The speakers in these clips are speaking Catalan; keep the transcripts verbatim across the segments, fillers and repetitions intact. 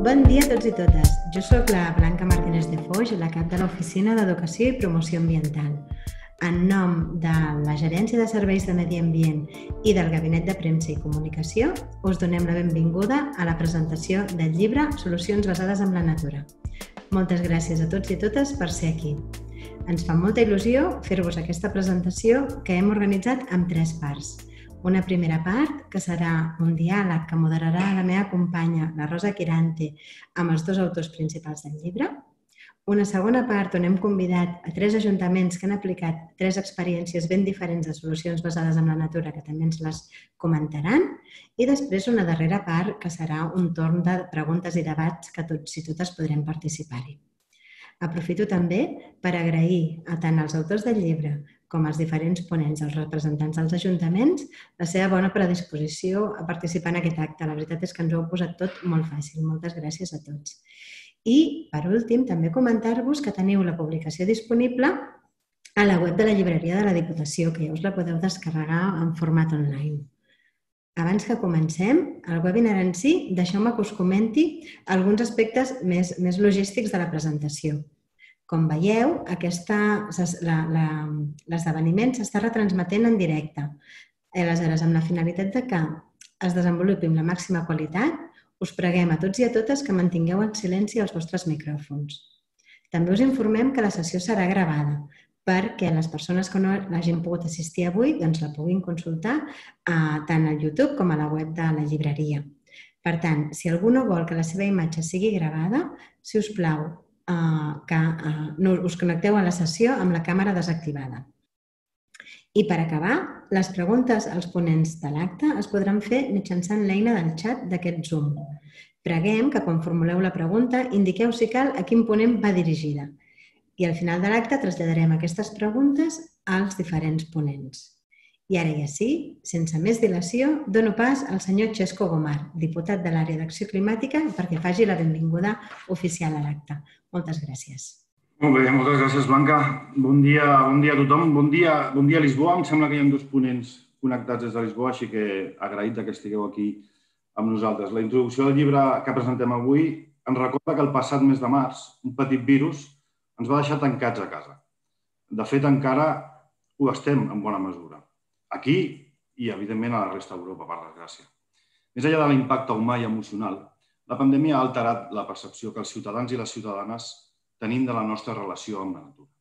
Bon dia a tots i totes. Jo sóc la Blanca Martínez de Foix, la cap de l'Oficina d'Educació i Promoció Ambiental. En nom de la Gerència de Serveis de Medi Ambient i del Gabinet de Premsa i Comunicació, us donem la benvinguda a la presentació del llibre Solucions basades en la natura. Moltes gràcies a tots i totes per ser aquí. Ens fa molta il·lusió fer-vos aquesta presentació que hem organitzat en tres parts. Una primera part, que serà un diàleg que moderarà la meva companya, la Rosa Quirante, amb els dos autors principals del llibre. Una segona part on hem convidat a tres ajuntaments que han aplicat tres experiències ben diferents de solucions basades en la natura, que també ens les comentaran. I després una darrera part, que serà un torn de preguntes i debats que tots i totes podrem participar-hi. Aprofito també per agrair a tant als autors del llibre com als diferents ponents, els representants dels ajuntaments, la seva bona predisposició a participar en aquest acte. La veritat és que ens ho heu posat tot molt fàcil. Moltes gràcies a tots. I, per últim, també comentar-vos que teniu la publicació disponible a la web de la llibreria de la Diputació, que ja us la podeu descarregar en format online. Abans que comencem, el webinar en si, deixeu-me que us comenti alguns aspectes més, més logístics de la presentació. Com veieu, l'esdeveniment s'està retransmetent en directe. Aleshores, amb la finalitat de que es desenvolupi amb la màxima qualitat, us preguem a tots i a totes que mantingueu en silenci els vostres micròfons. També us informem que la sessió serà gravada perquè les persones que no l'hagin pogut assistir avui doncs la puguin consultar tant al YouTube com a la web de la llibreria. Per tant, si algú no vol que la seva imatge sigui gravada, si us plau, que us connecteu a la sessió amb la càmera desactivada. I per acabar, les preguntes als ponents de l'acte es podran fer mitjançant l'eina del xat d'aquest Zoom. Preguem que quan formuleu la pregunta indiqueu si cal a quin ponent va dirigida i al final de l'acte traslladarem aquestes preguntes als diferents ponents. I ara ja sí, sense més dilació, dono pas al senyor Xesco Gomar, diputat de l'àrea d'acció climàtica, perquè faci la benvinguda oficial a l'acte. Moltes gràcies. Molt bé, moltes gràcies, Blanca. Bon dia, bon dia a tothom. Bon dia, bon dia a Lisboa. Em sembla que hi ha dos ponents connectats des de Lisboa, així que agraït que estigueu aquí amb nosaltres. La introducció del llibre que presentem avui ens recorda que el passat mes de març un petit virus ens va deixar tancats a casa. De fet, encara ho estem en bona mesura. Aquí i, evidentment, a la resta d'Europa, per desgràcia. Més enllà de l'impacte humà i emocional, la pandèmia ha alterat la percepció que els ciutadans i les ciutadanes tenim de la nostra relació amb la natura.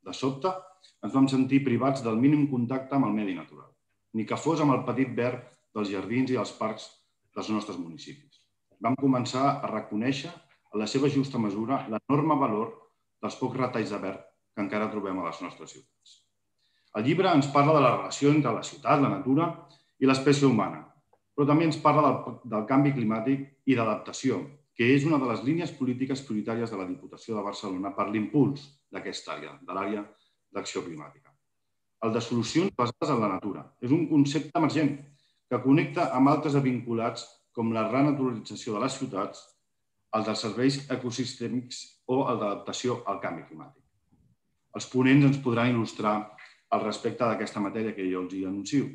De sobte, ens vam sentir privats del mínim contacte amb el medi natural, ni que fos amb el petit verd dels jardins i dels parcs dels nostres municipis. Vam començar a reconèixer, en la seva justa mesura, l'enorme valor dels pocs retalls de verd que encara trobem a les nostres ciutats. El llibre ens parla de la relació entre la ciutat, la natura i l'espècie humana, però també ens parla del canvi climàtic i d'adaptació, que és una de les línies polítiques prioritàries de la Diputació de Barcelona per l'impuls d'aquesta àrea, de l'àrea d'acció climàtica. El de solucions basades en la natura és un concepte emergent que connecta amb altres vinculats com la renaturalització de les ciutats, el dels serveis ecosistèmics o el d'adaptació al canvi climàtic. Els ponents ens podran il·lustrar al respecte d'aquesta matèria que jo els hi anuncio.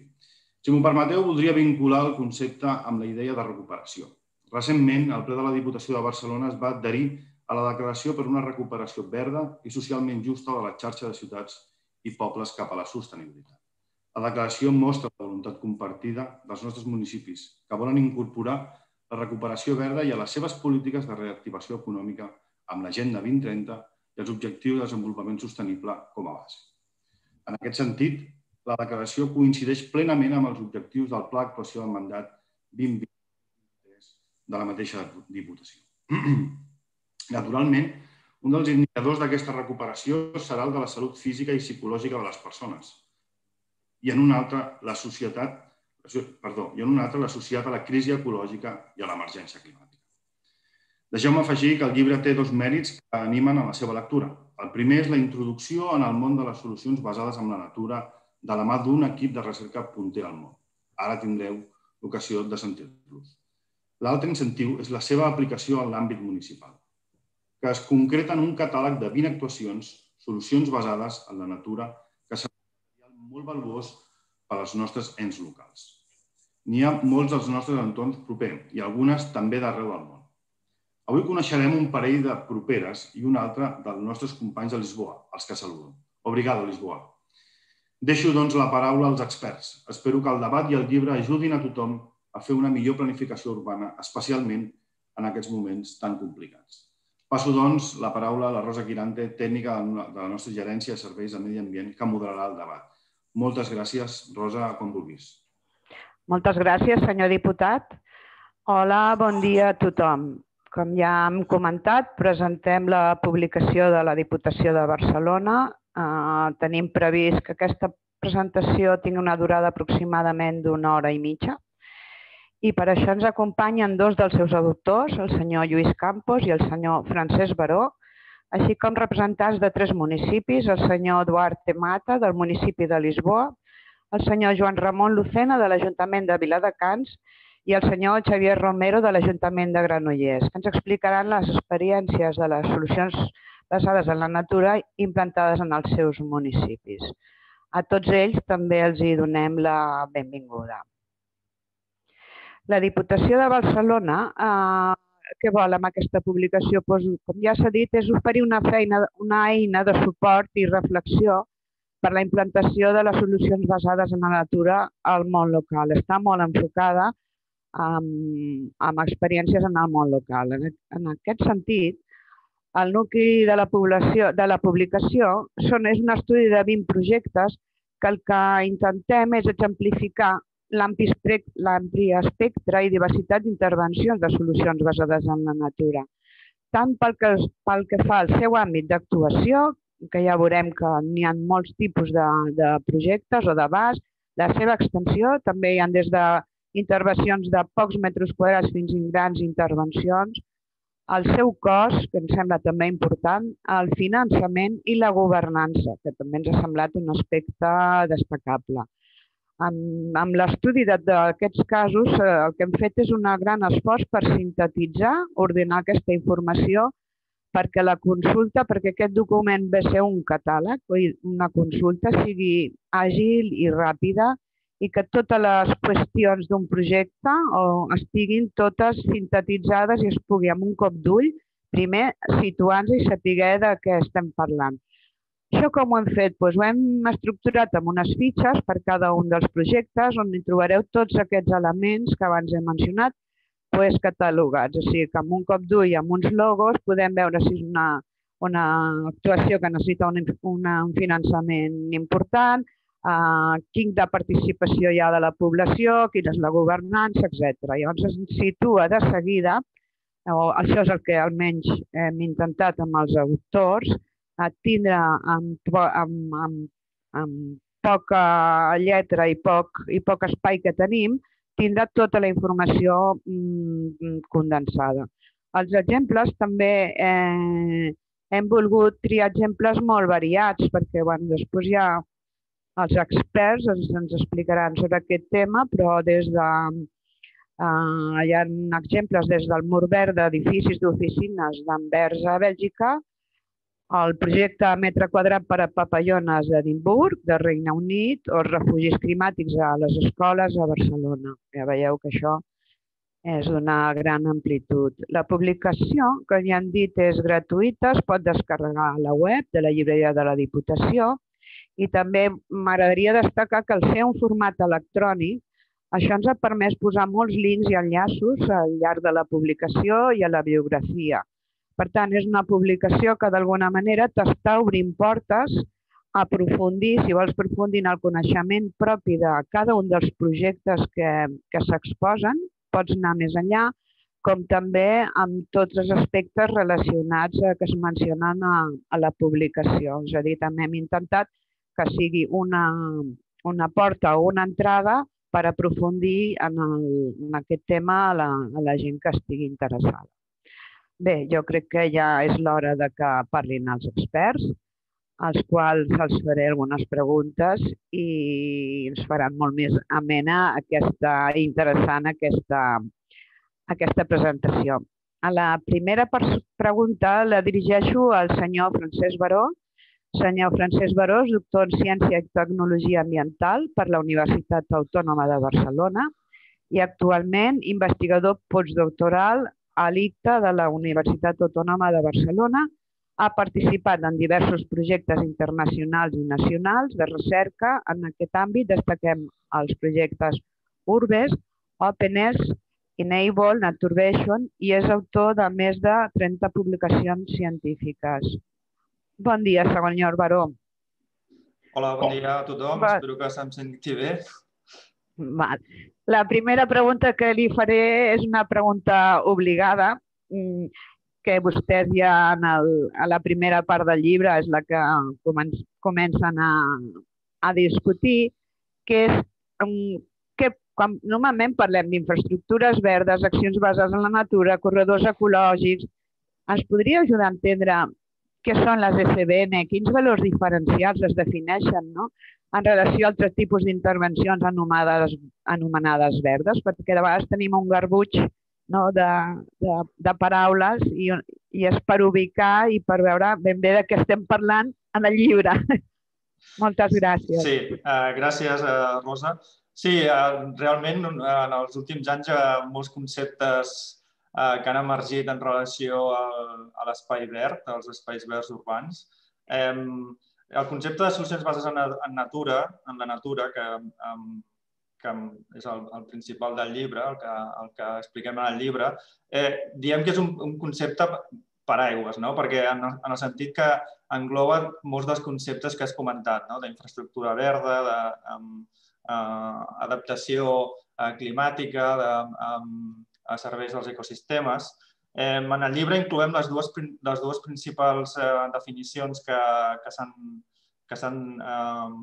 Si m'ho permeteu, voldria vincular el concepte amb la idea de recuperació. Recentment, el ple de la Diputació de Barcelona es va adherir a la declaració per una recuperació verda i socialment justa de la xarxa de ciutats i pobles cap a la sostenibilitat. La declaració mostra la voluntat compartida dels nostres municipis que volen incorporar la recuperació verda i a les seves polítiques de reactivació econòmica amb l'Agenda vint trenta i els objectius de desenvolupament sostenible com a base. En aquest sentit, la declaració coincideix plenament amb els objectius del Pla d'actuació del mandat vint vint de la mateixa Diputació. Naturalment, un dels indicadors d'aquesta recuperació serà el de la salut física i psicològica de les persones i en un altre l'associat a la crisi ecològica i a l'emergència climàtica. Deixeu-me afegir que el llibre té dos mèrits que animen a la seva lectura. El primer és la introducció en el món de les solucions basades en la natura de la mà d'un equip de recerca punter al món. Ara tindreu l'ocasió de sentir-los. L'altre incentiu és la seva aplicació en l'àmbit municipal, que es concreta en un catàleg de vint actuacions, solucions basades en la natura, que seran molt valuós per als nostres ens locals. N'hi ha molts dels nostres entorns propers i algunes també d'arreu del món. Avui coneixerem un parell de properes i un altre dels nostres companys de Lisboa, els que saludo. Obrigado, Lisboa. Deixo, doncs, la paraula als experts. Espero que el debat i el llibre ajudin a tothom a fer una millor planificació urbana, especialment en aquests moments tan complicats. Passo, doncs, la paraula a la Rosa Quirante, tècnica de la nostra gerència de serveis de medi ambient, que moderarà el debat. Moltes gràcies, Rosa, quan vulguis. Moltes gràcies, senyor diputat. Hola, bon dia a tothom. Com ja hem comentat, presentem la publicació de la Diputació de Barcelona. Tenim previst que aquesta presentació tingui una durada aproximadament d'una hora i mitja. I per això ens acompanyen dos dels seus autors, el senyor Lluís Campos i el senyor Francesc Baró, així com representants de tres municipis, el senyor Duarte Mata, del municipi de Lisboa, el senyor Joan Ramon Lucena, de l'Ajuntament de Viladecans, i el senyor Xavier Romero, de l'Ajuntament de Granollers, que ens explicaran les experiències de les solucions basades en la natura implantades en els seus municipis. A tots ells també els hi donem la benvinguda. La Diputació de Barcelona, què vol amb aquesta publicació? Com ja s'ha dit, és oferir una eina de suport i reflexió per la implantació de les solucions basades en la natura al món local. Està molt enfocada amb experiències en el món local. En aquest sentit, el nucli de la publicació és un estudi de vint projectes que el que intentem és exemplificar l'ampli espectre i diversitat d'intervencions de solucions basades en la natura. Tant pel que fa al seu àmbit d'actuació, que ja veurem que n'hi ha molts tipus de projectes o d'abast, la seva extensió, també hi ha des d'intervencions de pocs metres quadrats fins a grans intervencions, el seu cost, que ens sembla també important, el finançament i la governança, que també ens ha semblat un aspecte destacable. Amb l'estudi d'aquests casos, el que hem fet és un gran esforç per sintetitzar, ordenar aquesta informació perquè la consulta, perquè aquest document ve a ser un catàleg, una consulta sigui àgil i ràpida i que totes les qüestions d'un projecte estiguin totes sintetitzades i es pugui amb un cop d'ull primer situar-nos i saber de què estem parlant. Això com ho hem fet? Ho hem estructurat amb unes fitxes per cada un dels projectes on hi trobareu tots aquests elements que abans he mencionat catalogats. O sigui que amb un cop d'ull i amb uns logos podem veure si és una actuació que necessita un finançament important, quin de participació hi ha de la població, quina és la governança, etcètera. Llavors es situa de seguida, això és el que almenys hem intentat amb els autors, tindre amb poca lletra i poc espai que tenim, tindrà tota la informació condensada. Els exemples també hem volgut triar exemples molt variats perquè després ja els experts ens explicaran sobre aquest tema, però des de hi ha exemples des del mur verd d'edificis d'oficines d'Anvers a Bèlgica, el projecte Metre Quadrat per a Papallones d'Edimburg, de Regne Unit, o els refugis climàtics a les escoles a Barcelona. Ja veieu que això és d'una gran amplitud. La publicació, que ja han dit, és gratuïta, es pot descarregar a la web de la llibreria de la Diputació i també m'agradaria destacar que al ser un format electrònic, això ens ha permès posar molts links i enllaços al llarg de la publicació i a la biografia. Per tant, és una publicació que d'alguna manera t'està obrint portes a aprofundir, si vols aprofundir en el coneixement propi de cada un dels projectes que s'exposen, pots anar més enllà, com també amb tots els aspectes relacionats que es mencionen a la publicació. És a dir, també hem intentat que sigui una porta o una entrada per aprofundir en aquest tema a la gent que estigui interessada. Bé, jo crec que ja és l'hora que parlin els experts, als quals els faré algunes preguntes i ens faran molt més amena i interessant aquesta presentació. La primera pregunta la dirigeixo al senyor Francesc Baró. Senyor Francesc Baró és doctor en Ciència i Tecnologia Ambiental per la Universitat Autònoma de Barcelona i actualment investigador postdoctoral a l'I C T A de la Universitat Autònoma de Barcelona. Ha participat en diversos projectes internacionals i nacionals de recerca. En aquest àmbit destaquem els projectes Urbes, OpenES, Enable, Naturvation i és autor de més de trenta publicacions científiques. Bon dia, senyor Baró. Hola, bon dia a tothom. Espero que se'm senti bé. La primera pregunta que li faré és una pregunta obligada, que vostès ja a la primera part del llibre és la que comencen a discutir, que és que normalment parlem d'infraestructures verdes, accions basades en la natura, corredors ecològics. Ens podria ajudar a entendre què són les S B N, quins valors diferencials es defineixen en relació a altres tipus d'intervencions anomenades verdes, perquè de vegades tenim un garbuix de paraules i és per ubicar i per veure ben bé de què estem parlant en el llibre. Moltes gràcies. Sí, gràcies, Rosa. Sí, realment en els últims anys hi ha molts conceptes que han emergit en relació a l'espai verd, als espais verds urbans. El concepte de solucions bases en natura, en la natura, que és el principal del llibre, el que expliquem en el llibre, diem que és un concepte paraigües, perquè en el sentit que engloba molts dels conceptes que has comentat, d'infraestructura verda, d'adaptació climàtica, a serveis dels ecosistemes. En el llibre incloem les dues principals definicions que s'han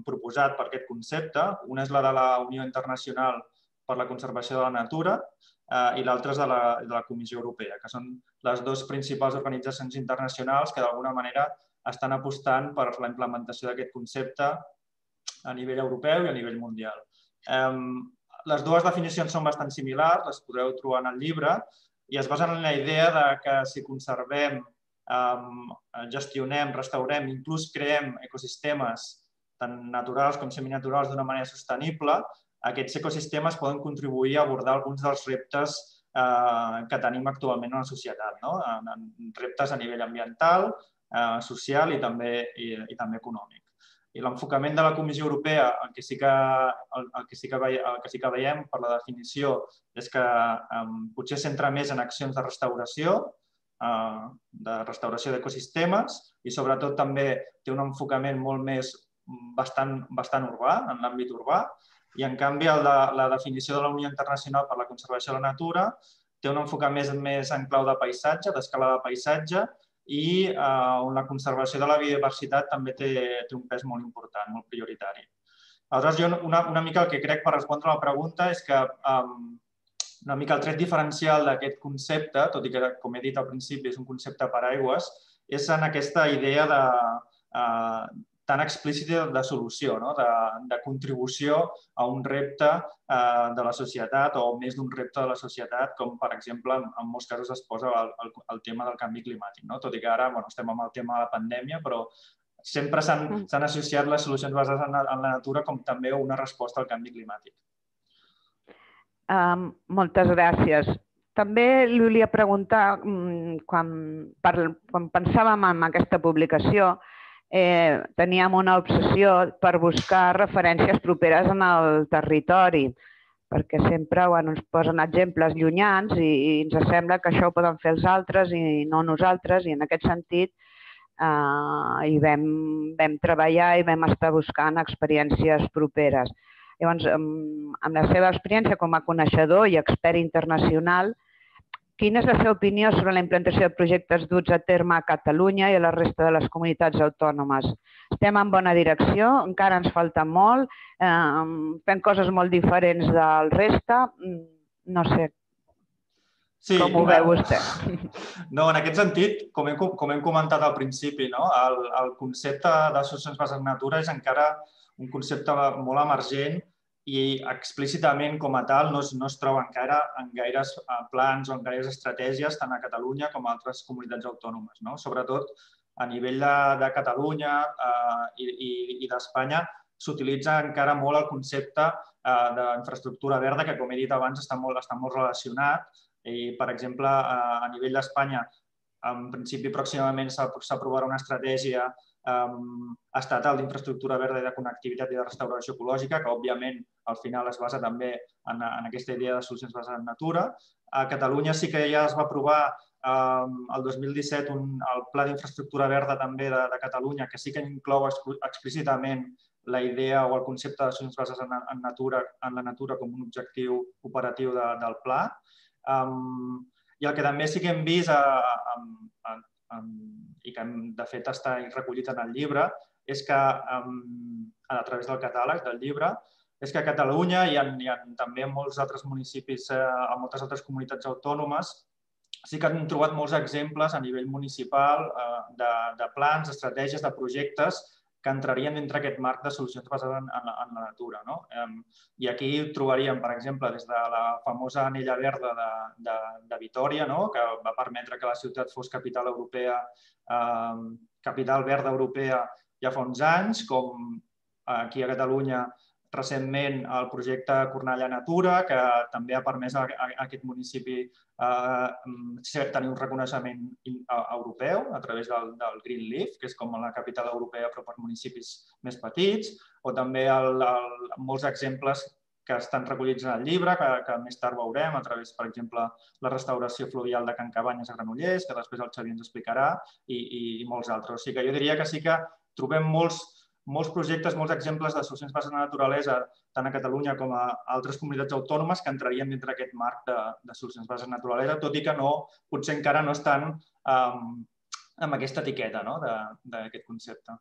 proposat per aquest concepte. Una és la de la Unió Internacional per la Conservació de la Natura i l'altra és de la Comissió Europea, que són les dues principals organitzacions internacionals que d'alguna manera estan apostant per la implementació d'aquest concepte a nivell europeu i a nivell mundial. Les dues definicions són bastant similars, les podreu trobar en el llibre, i es basen en la idea que si conservem, gestionem, restaurem, inclús creem ecosistemes tant naturals com seminaturals d'una manera sostenible, aquests ecosistemes poden contribuir a abordar alguns dels reptes que tenim actualment en la societat, reptes a nivell ambiental, social i també econòmic. I l'enfocament de la Comissió Europea, el que sí que veiem per la definició és que potser es centra més en accions de restauració, de restauració d'ecosistemes i sobretot també té un enfocament molt més bastant urbà, en l'àmbit urbà, i en canvi la definició de la Unió Internacional per la Conservació de la Natura té un enfocament més en clau de paisatge, d'escala de paisatge, i on la conservació de la biodiversitat també té un pes molt important, molt prioritari. Aleshores, jo una mica el que crec per respondre a la pregunta és que una mica el tret diferencial d'aquest concepte, tot i que, com he dit al principi, és un concepte paraigües, és en aquesta idea tan explícita de solució, de contribució a un repte de la societat o més d'un repte de la societat, com per exemple en molts casos es posa el tema del canvi climàtic. Tot i que ara estem amb el tema de la pandèmia, però sempre s'han associat les solucions basades en la natura com també una resposta al canvi climàtic. Moltes gràcies. També li volia preguntar, quan pensàvem en aquesta publicació, teníem una obsessió per buscar referències properes en el territori, perquè sempre ens posen exemples llunyans i ens sembla que això ho poden fer els altres i no nosaltres, i en aquest sentit hi vam treballar i vam estar buscant experiències properes. Llavors, amb la seva experiència com a coneixedor i expert internacional, quina és la seva opinió sobre la implantació de projectes duts a terme a Catalunya i a la resta de les comunitats autònomes? Estem en bona direcció, encara ens falta molt, fem coses molt diferents del reste, no sé, com ho veu vostè? No, en aquest sentit, com hem comentat al principi, el concepte de solucions bases en natura és encara un concepte molt emergent i explícitament com a tal no es troba encara en gaires plans o en gaires estratègies tant a Catalunya com a altres comunitats autònomes. Sobretot a nivell de Catalunya i d'Espanya s'utilitza encara molt el concepte d'infraestructura verda que, com he dit abans, està molt relacionat I, per exemple, a nivell d'Espanya, en principi, pròximament s'aprovarà una estratègia estatal d'infraestructura verda i de connectivitat i de restauració ecològica, que, òbviament, al final es basa també en aquesta idea de solucions basades en natura. A Catalunya sí que ja es va aprovar el dos mil disset el Pla d'Infraestructura Verda també de Catalunya, que sí que inclou explícitament la idea o el concepte de solucions basades en la natura com un objectiu operatiu del pla. I el que també sí que hem vist, i que de fet està recollit en el llibre, és que a través del catàleg del llibre, és que a Catalunya i també en molts altres municipis, en moltes altres comunitats autònomes, sí que han trobat molts exemples a nivell municipal de plans, d'estratègies, de projectes que entrarien dintre aquest marc de solucions basades en la natura. I aquí trobaríem, per exemple, des de la famosa Anella Verda de Vitòria, que va permetre que la ciutat fos capital europea, capital verda europea ja fa uns anys, com aquí a Catalunya recentment el projecte Cornellà Natura, que també ha permès a aquest municipi tenir un reconeixement europeu a través del Green Leaf, que és com la capital europea però per municipis més petits, o també molts exemples que estan recollits en el llibre, que més tard veurem, a través, per exemple, la restauració fluvial de Can Cabanyes a Granollers, que després el Xavier ens explicarà, i molts altres. O sigui que jo diria que sí que trobem molts molts projectes, molts exemples de solucions basades en la naturalesa, tant a Catalunya com a altres comunitats autònomes, que entrarien dintre aquest marc de solucions basades en la naturalesa, tot i que potser encara no estan amb aquesta etiqueta d'aquest concepte.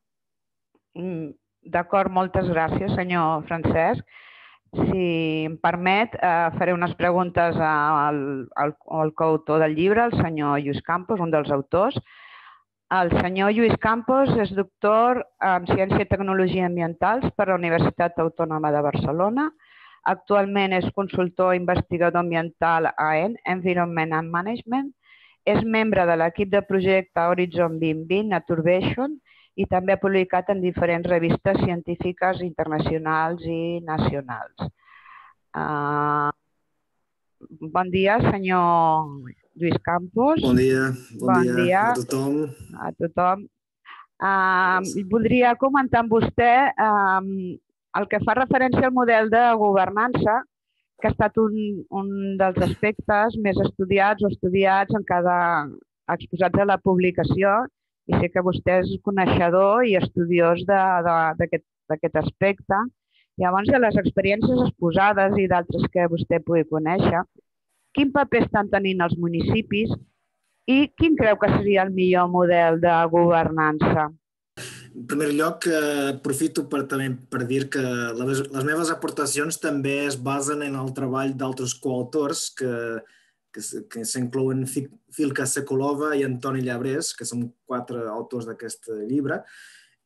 D'acord, moltes gràcies, senyor Francesc. Si em permet, faré unes preguntes al coautor del llibre, el senyor Lluís Campos, un dels autors. El senyor Lluís Campos és doctor en Ciència i Tecnologia Ambientals per la Universitat Autònoma de Barcelona. Actualment és consultor investigador ambiental a E N, Environment and Management. És membre de l'equip de projecte Horizon dos mil vint, Naturbation, i també ha publicat en diferents revistes científiques internacionals i nacionals. Bon dia, senyor Lluís Campos. Bon dia, bon dia a tothom. A tothom. Voldria comentar amb vostè el que fa referència al model de governança, que ha estat un dels aspectes més estudiats o estudiats en cada exposats a la publicació, i sé que vostè és coneixedor i estudiós d'aquest aspecte. Llavors, de les experiències exposades i d'altres que vostè pugui conèixer, quin paper estan tenint els municipis i quin creu que seria el millor model de governança? En primer lloc, aprofito per dir que les meves aportacions també es basen en el treball d'altres coautors que s'inclouen Filka Sekulova i Antoni Llabrés, que són quatre autors d'aquest llibre.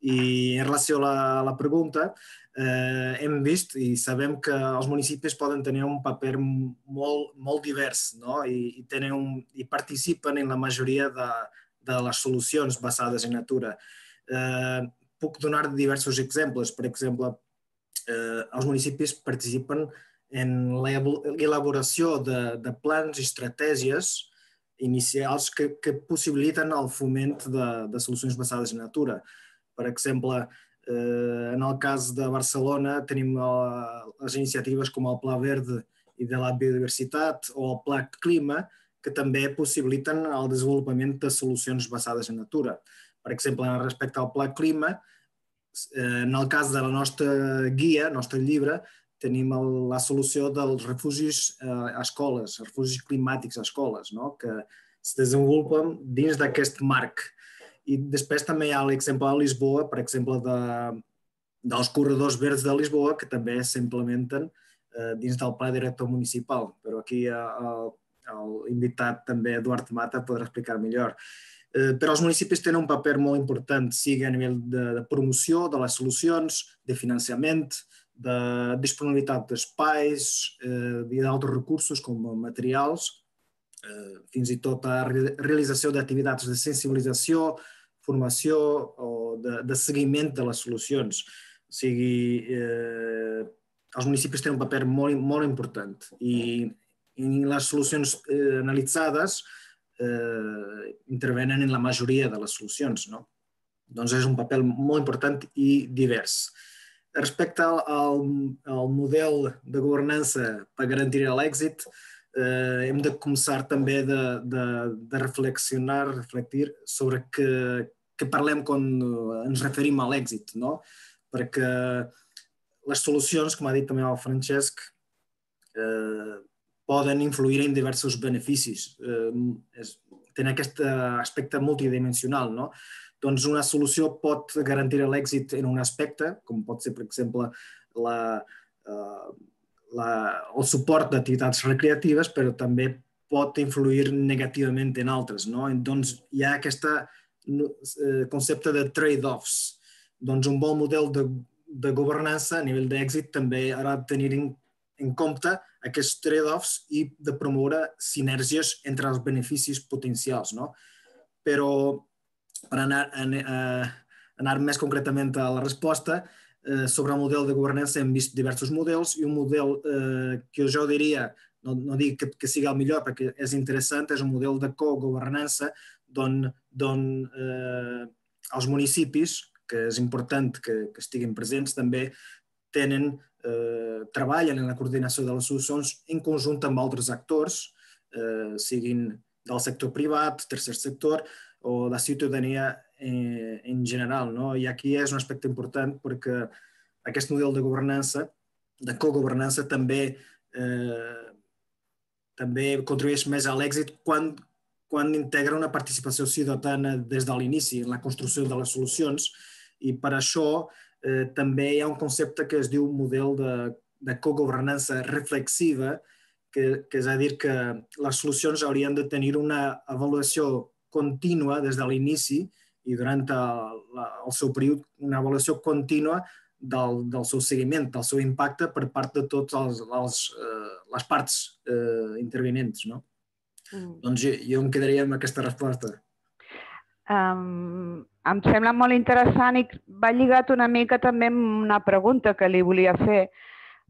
I en relació a la pregunta, hem vist i sabem que els municipis poden tenir un paper molt divers i participen en la majoria de les solucions basades en natura. Puc donar diversos exemples. Per exemple, els municipis participen en l'elaboració de plans i estratègies inicials que possibiliten el foment de solucions basades en natura. Per exemple, en el cas de Barcelona tenim les iniciatives com el Pla Verde i de la Biodiversitat o el Pla Clima, que també possibiliten el desenvolupament de solucions basades en natura. Per exemple, respecte al Pla Clima, en el cas de la nostra guia, el nostre llibre, tenim la solució dels refugis a escoles, refugis climàtics a escoles, que es desenvolupen dins d'aquest marc. I després també hi ha l'exemple de Lisboa, per exemple, dels corredors verds de Lisboa, que també s'implementen dins del pla director municipal. Però aquí l'invitat també, Eduard Mata, podrà explicar millor. Però els municipis tenen un paper molt important, sigui a nivell de promoció de les solucions, de finançament, de disponibilitat d'espais i d'altres recursos com materials, fins i tot a realització d'activitats de sensibilització, formació o de seguiment de les solucions. O sigui, els municipis tenen un paper molt important i i les solucions analitzades intervenen en la majoria de les solucions, no? Doncs és un paper molt important i divers. Respecte al model de governança per garantir l'èxit, hem de començar també de reflexionar, reflectir sobre què parlem quan ens referim a l'èxit, no? Perquè les solucions, com ha dit també el Francesc, poden influir en diversos beneficis. Tenen aquest aspecte multidimensional, no? Doncs una solució pot garantir l'èxit en un aspecte, com pot ser, per exemple, el suport d'activitats recreatives, però també pot influir negativament en altres, no? Doncs hi ha aquest concepte de trade-offs. Doncs un bon model de governança a nivell d'èxit també ha de tenir en compte aquests trade-offs i de promoure sinergies entre els beneficis potencials, no? Però per anar, eh, anar més concretament a la resposta, eh, sobre el model de governança hem vist diversos models i un model eh, que jo diria, no, no dic que, que sigui el millor perquè és interessant, és un model de cogovernança d'on eh, els municipis, que és important que, que estiguin presents, també tenen, eh, treballen en la coordinació de les solucions en conjunt amb altres actors, eh, siguin del sector privat, tercer sector, o la ciutadania en general, no? I aquí és un aspecte important perquè aquest model de governança, de cogovernança, també també contribueix més a l'èxit quan quan integra una participació ciutadana des de l'inici en la construcció de les solucions i per això també hi ha un concepte que es diu model de cogovernança reflexiva, que és a dir que les solucions haurien de tenir una avaluació contínua des de l'inici i durant el seu període, una avaluació contínua del seu seguiment, del seu impacte per part de totes les parts intervinents. Doncs jo em quedaria amb aquesta resposta. Em sembla molt interessant i va lligat una mica també amb una pregunta que li volia fer,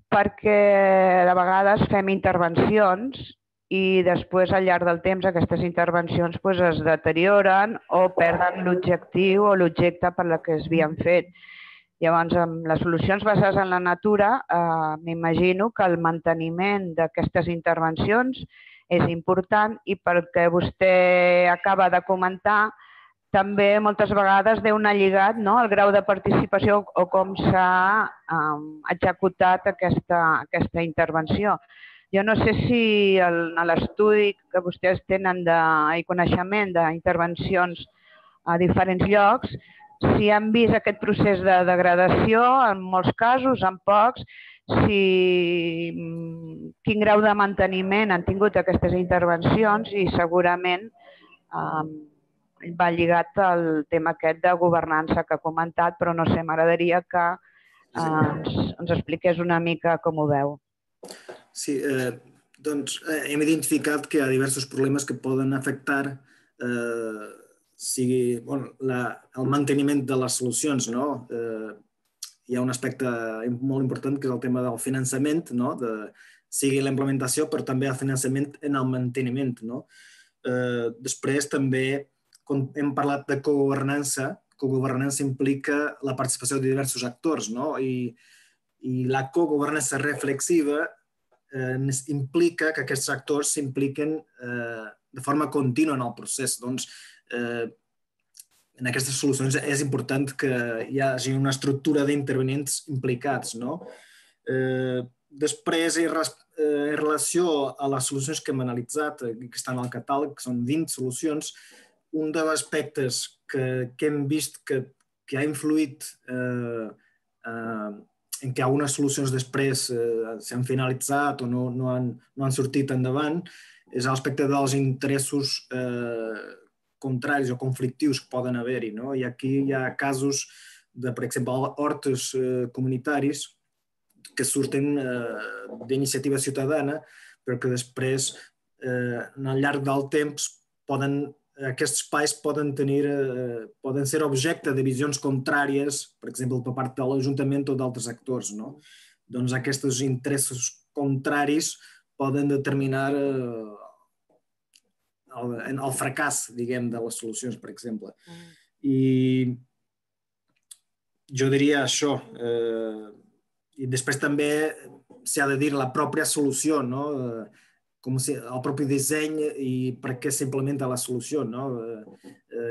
perquè de vegades fem intervencions i després, al llarg del temps, aquestes intervencions es deterioren o perden l'objectiu o l'objecte per la que es havien fet. Llavors, amb les solucions basades en la natura, m'imagino que el manteniment d'aquestes intervencions és important i perquè vostè acaba de comentar, també moltes vegades deu anar lligat el grau de participació o com s'ha executat aquesta intervenció. Jo no sé si en l'estudi que vostès tenen i coneixement d'intervencions a diferents llocs, si han vist aquest procés de degradació, en molts casos, en pocs, quin grau de manteniment han tingut aquestes intervencions i segurament va lligat al tema aquest de governança que ha comentat, però no sé, m'agradaria que ens expliqués una mica com ho veu. Sí, doncs hem identificat que hi ha diversos problemes que poden afectar sigui el manteniment de les solucions. Hi ha un aspecte molt important que és el tema del finançament, sigui la implementació, però també el finançament en el manteniment. Després també, quan hem parlat de cogovernança, cogovernança implica la participació de diversos actors i la cogovernança reflexiva implica que aquests actors s'impliquen de forma contínua en el procés. Doncs, en aquestes solucions és important que hi hagi una estructura d'intervenents implicats. Després, en relació a les solucions que hem analitzat, que estan al catàleg, que són vint solucions, un dels aspectes que hem vist que ha influït en què algunes solucions després s'han finalitzat o no han sortit endavant, és l'aspecte dels interessos contraris o conflictius que poden haver-hi. I aquí hi ha casos de, per exemple, hortes comunitaris que surten d'iniciativa ciutadana, però que després, al llarg del temps, aquests espais poden ser objecte de visions contràries, per exemple, per part de l'Ajuntament o d'altres actors. Doncs aquests interessos contraris poden determinar el fracàs, diguem, de les solucions, per exemple. I jo diria això. I després també s'ha de dir la pròpia solució, no? Com si el propi disseny i per què s'implementa la solució, no?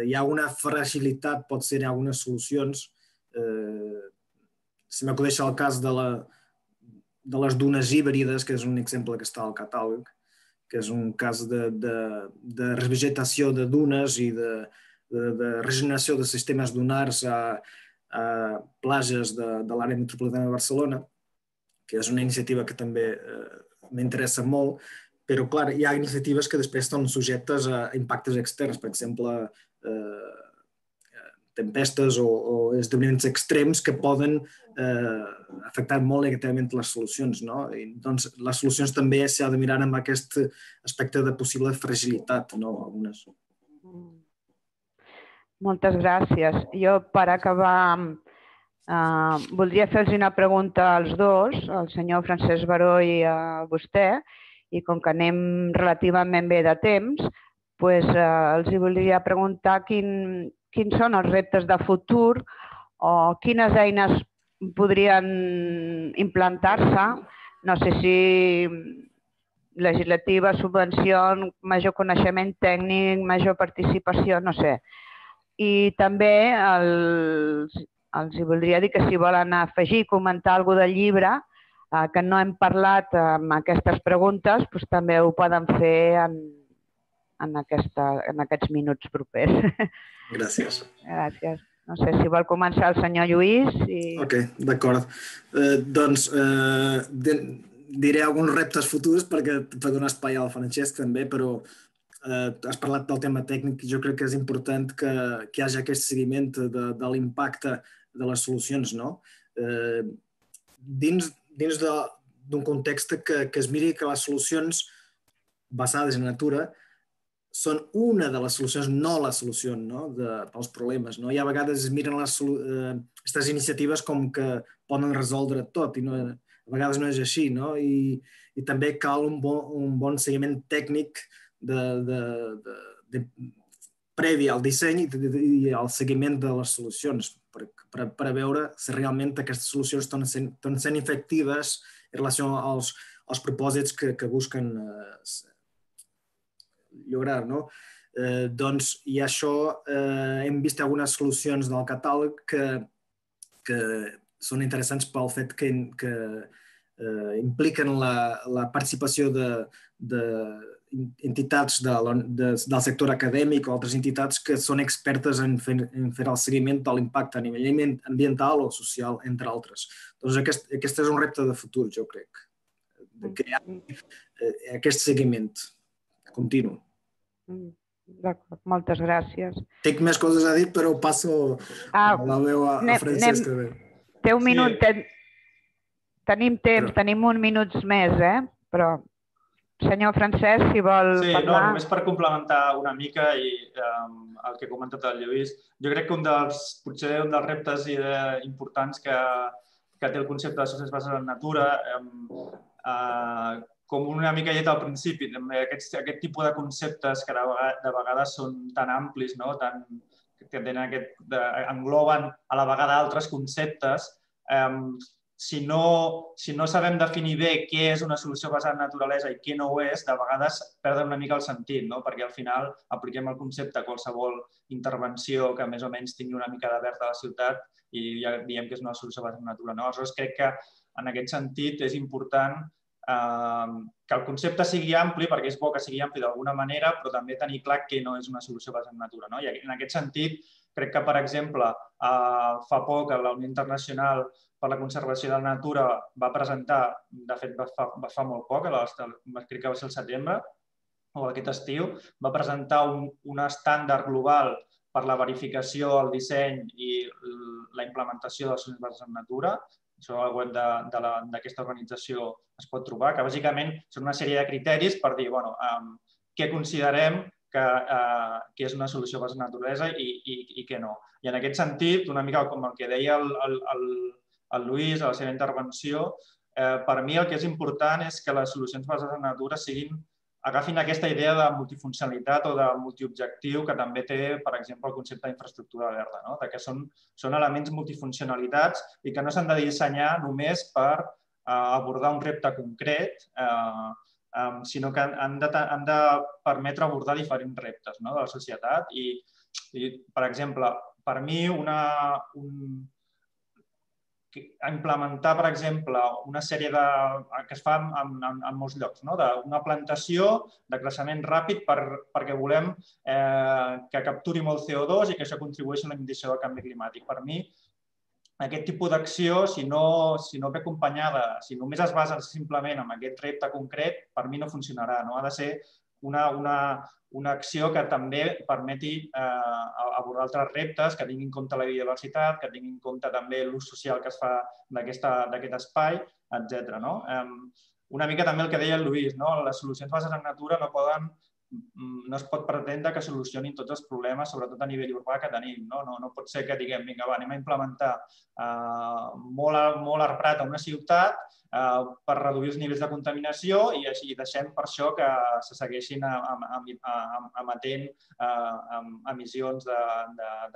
Hi ha una fragilitat, pot ser, en algunes solucions. Si m'acudeix el cas de les dunes híbrides, que és un exemple que està al catàleg, que és un cas de revegetació de dunes i de regeneració de sistemes dunars a platges de l'àrea metropolitana de Barcelona, que és una iniciativa que també m'interessa molt, però, clar, hi ha iniciatives que després estan subjectes a impactes externs, per exemple, tempestes o esdeveniments extrems que poden afectar molt negativament les solucions. Doncs les solucions també s'ha de mirar amb aquest aspecte de possible fragilitat. Moltes gràcies. Jo, per acabar, voldria fer-los una pregunta als dos, al senyor Francesc Baró i a vostè, i com que anem relativament bé de temps, els voldria preguntar quins són els reptes de futur o quines eines podrien implantar-se, no sé si legislativa, subvenció, major coneixement tècnic, major participació, no sé. I també els voldria dir que si volen afegir, comentar alguna cosa del llibre que no hem parlat amb aquestes preguntes, també ho poden fer en aquests minuts propers. Gràcies. Gràcies. No sé si vol començar el senyor Lluís. Ok, d'acord. Doncs diré alguns reptes futurs per donar espai al Francesc també, però has parlat del tema tècnic i jo crec que és important que hi hagi aquest seguiment de l'impacte de les solucions. Dins d'un context que es miri que les solucions basades en natura són una de les solucions, no la solució pels problemes. I a vegades es miren aquestes iniciatives com que poden resoldre tot i a vegades no és així. I també cal un bon seguiment tècnic previ al disseny i al seguiment de les solucions per veure si realment aquestes solucions estan sent efectives en relació als propòsits que busquen lograr. I això hem vist algunes solucions del catàleg que són interessants pel fet que impliquen la participació d'entitats del sector acadèmic o altres entitats que són expertes en fer el seguiment de l'impacte a nivell ambiental o social, entre altres. Doncs aquest és un repte de futur, jo crec, de crear aquest seguiment continu. D'acord, moltes gràcies. Tinc més coses a dir, però passo la veu a Francesc. Té un minut, tenim temps, tenim uns minuts més, però senyor Francesc, si vol parlar... Sí, només per complementar una mica el que ha comentat el Lluís, jo crec que un dels, potser un dels reptes importants que té el concepte de solucions basades en natura, com una mica llet al principi, aquest tipus de conceptes que de vegades són tan amplis, que engloben a la vegada altres conceptes, si no sabem definir bé què és una solució basada en naturalesa i què no ho és, de vegades perden una mica el sentit, perquè al final apliquem el concepte a qualsevol intervenció que més o menys tingui una mica de verd a la ciutat i ja diem que és una solució basada en natura. Aleshores, crec que en aquest sentit és important que el concepte sigui ampli, perquè és bo que sigui ampli d'alguna manera, però també tenir clar que no és una solució basada en natura. I en aquest sentit, crec que, per exemple, fa poc la Unió Internacional per la Conservació de la Natura va presentar, de fet va fa molt poc, crec que va ser el setembre, o aquest estiu, va presentar un estàndard global per la verificació, el disseny i la implementació de les solucions basades en natura. Això al web d'aquesta organització es pot trobar, que bàsicament són una sèrie de criteris per dir què considerem que és una solució basada en naturalesa i què no. I en aquest sentit, una mica com el que deia el Lluís a la seva intervenció, per mi el que és important és que les solucions basades en natura siguin agafin aquesta idea de multifuncionalitat o de multiobjectiu que també té, per exemple, el concepte d'infraestructura verda, que són elements multifuncionalitats i que no s'han de dissenyar només per abordar un repte concret, sinó que han de permetre abordar diferents reptes de la societat. I, per exemple, per mi, implementar, per exemple, una sèrie que es fa en molts llocs, una plantació de creixement ràpid perquè volem que capturi molt C O dos i que això contribueixi a la mitigació del canvi climàtic. Per mi, aquest tipus d'acció, si no ve acompanyada, si només es basa simplement en aquest repte concret, per mi no funcionarà. Ha de ser una acció que també permeti abordar altres reptes, que tingui en compte la biodiversitat, que tingui en compte també l'ús social que es fa d'aquest espai, etcètera. Una mica també el que deia el Lluís, les solucions bases en natura no poden no es pot pretendre que solucionin tots els problemes, sobretot a nivell urbà, que tenim. No pot ser que diguem, vinga, va, anem a implementar molt arbrat a una ciutat per reduir els nivells de contaminació i deixem per això que se segueixin emetent emissions de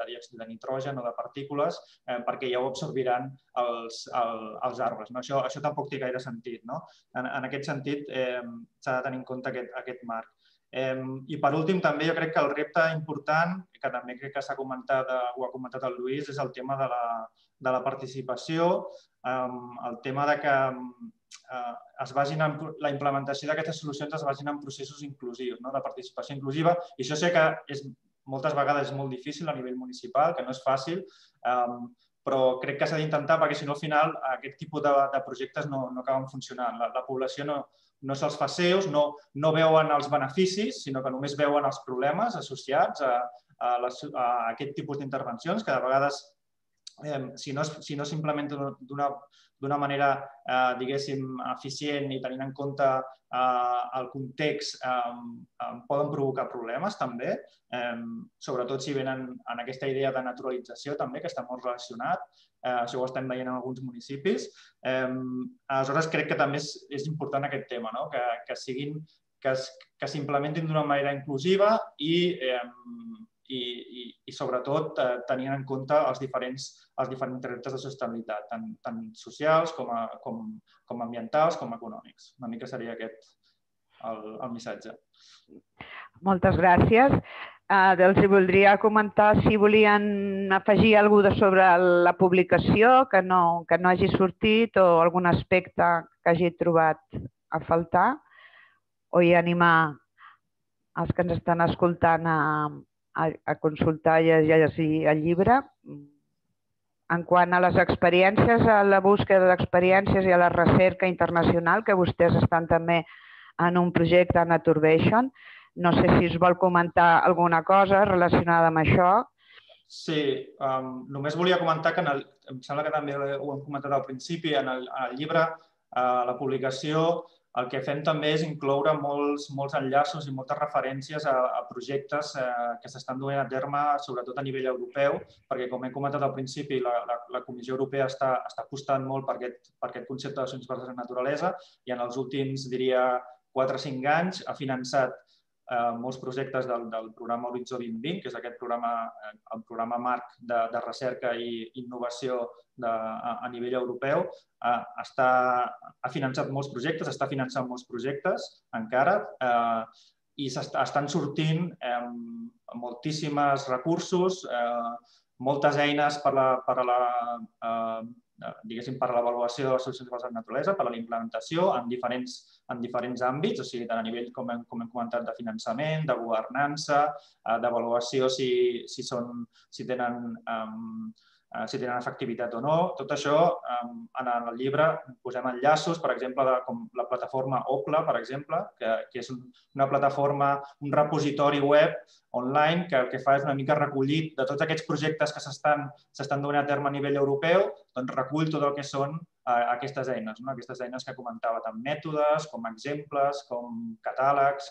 diòxid de nitrogen o de partícules perquè ja ho absorbiran els arbres. Això tampoc té gaire sentit. En aquest sentit, s'ha de tenir en compte aquest marc. I per últim, també jo crec que el repte important, que també crec que s'ha comentat, ho ha comentat el Lluís, és el tema de la participació, el tema que la implementació d'aquestes solucions es basin en processos inclusius, de participació inclusiva, i això sé que moltes vegades és molt difícil a nivell municipal, que no és fàcil, però crec que s'ha d'intentar perquè, si no, al final, aquest tipus de projectes no acaben funcionant. La població no no se'ls fa seus, no veuen els beneficis, sinó que només veuen els problemes associats a aquest tipus d'intervencions, que de vegades, si no s'implementen d'una manera, diguéssim, eficient i tenint en compte el context, poden provocar problemes també, sobretot si venen en aquesta idea de naturalització també, que està molt relacionat. Això ho estem veient en alguns municipis. Aleshores, crec que també és important aquest tema, que s'implementin d'una manera inclusiva i, sobretot, tenint en compte els diferents reptes de sostenibilitat, tant socials com ambientals com econòmics. Una mica seria aquest el missatge. Moltes gràcies. Els voldria comentar si volien afegir alguna cosa sobre la publicació que no hagi sortit o algun aspecte que hagi trobat a faltar, o i animar els que ens estan escoltant a consultar i a llegir el llibre. En quant a les experiències, a la búsqueda d'experiències i a la recerca internacional, que vostès estan també en un projecte Naturbation, no sé si us vol comentar alguna cosa relacionada amb això. Sí, només volia comentar que, em sembla que també ho hem comentat al principi, en el llibre, a la publicació, el que fem també és incloure molts enllaços i moltes referències a projectes que s'estan duent a terme, sobretot a nivell europeu, perquè, com hem comentat al principi, la Comissió Europea està apostant molt per aquest concepte de solucions bases en naturalesa i en els últims, diria, quatre o cinc anys ha finançat molts projectes del programa Horitzó dos mil vint, que és aquest programa marc de recerca i innovació a nivell europeu. Ha finançat molts projectes, està finançant molts projectes encara i estan sortint moltíssims recursos, moltes eines per a la diguéssim, per a l'avaluació de les solucions bases en naturalesa, per a la implementació en diferents àmbits, o sigui, tant a nivell, com hem comentat, de finançament, de governança, d'avaluació si tenen efectivitat o no. Tot això, en el llibre posem enllaços, per exemple, com la plataforma OPLA, per exemple, que és una plataforma, un repositori web online que el que fa és una mica recollir de tots aquests projectes que s'estan donant a terme a nivell europeu, doncs recull tot el que són aquestes eines, aquestes eines que comentava, tant mètodes, com exemples, com catàlegs,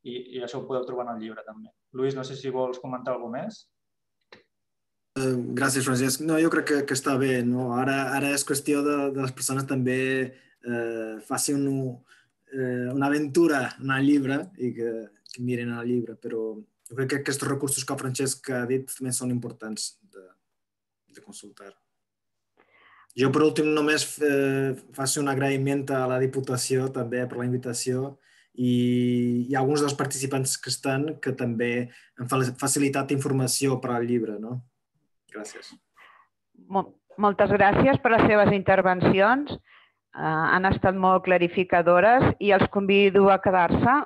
i això ho podeu trobar en el llibre també. Lluís, no sé si vols comentar alguna cosa més. Gràcies, Francesc. No, jo crec que, que està bé. No? Ara, ara és qüestió de, de les persones també eh, facin un, eh, una aventura en el llibre i que, que miren el llibre, però jo crec que aquests recursos que el Francesc ha dit també són importants de, de consultar. Jo, per últim, només eh, faig un agraïment a la Diputació també per la invitació i, i alguns dels participants que estan que també han facilitat informació per al llibre, no? Gràcies. Moltes gràcies per les seves intervencions. Uh, han estat molt clarificadores i els convido a quedar-se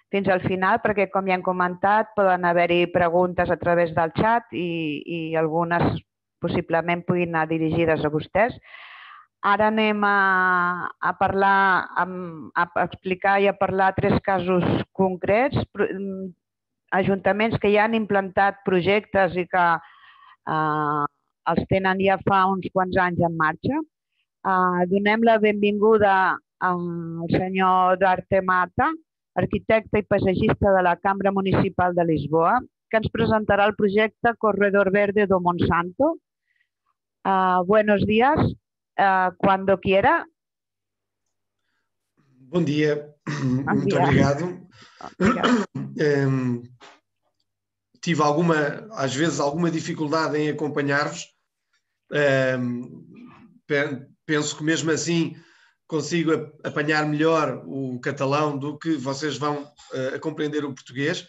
fins al final perquè, com ja hem comentat, poden haver-hi preguntes a través del xat i, i algunes possiblement puguin anar dirigides a vostès. Ara anem a, a parlar, a, a explicar i a parlar tres casos concrets, ajuntaments que ja han implantat projectes i que Uh, els tenen ja fa uns quants anys en marxa. Uh, donem la benvinguda al senyor Duarte Mata, arquitecte i paisatgista de la Cambra Municipal de Lisboa, que ens presentarà el projecte Corredor Verde do Monsanto. Uh, buenos días, uh, cuando quiera. Bom dia, Bom muito dia. obrigado. Obrigado. Um, tive alguma, às vezes, alguma dificuldade em acompanhar-vos. Um, penso que mesmo assim consigo apanhar melhor o catalão do que vocês vão uh, a compreender o português,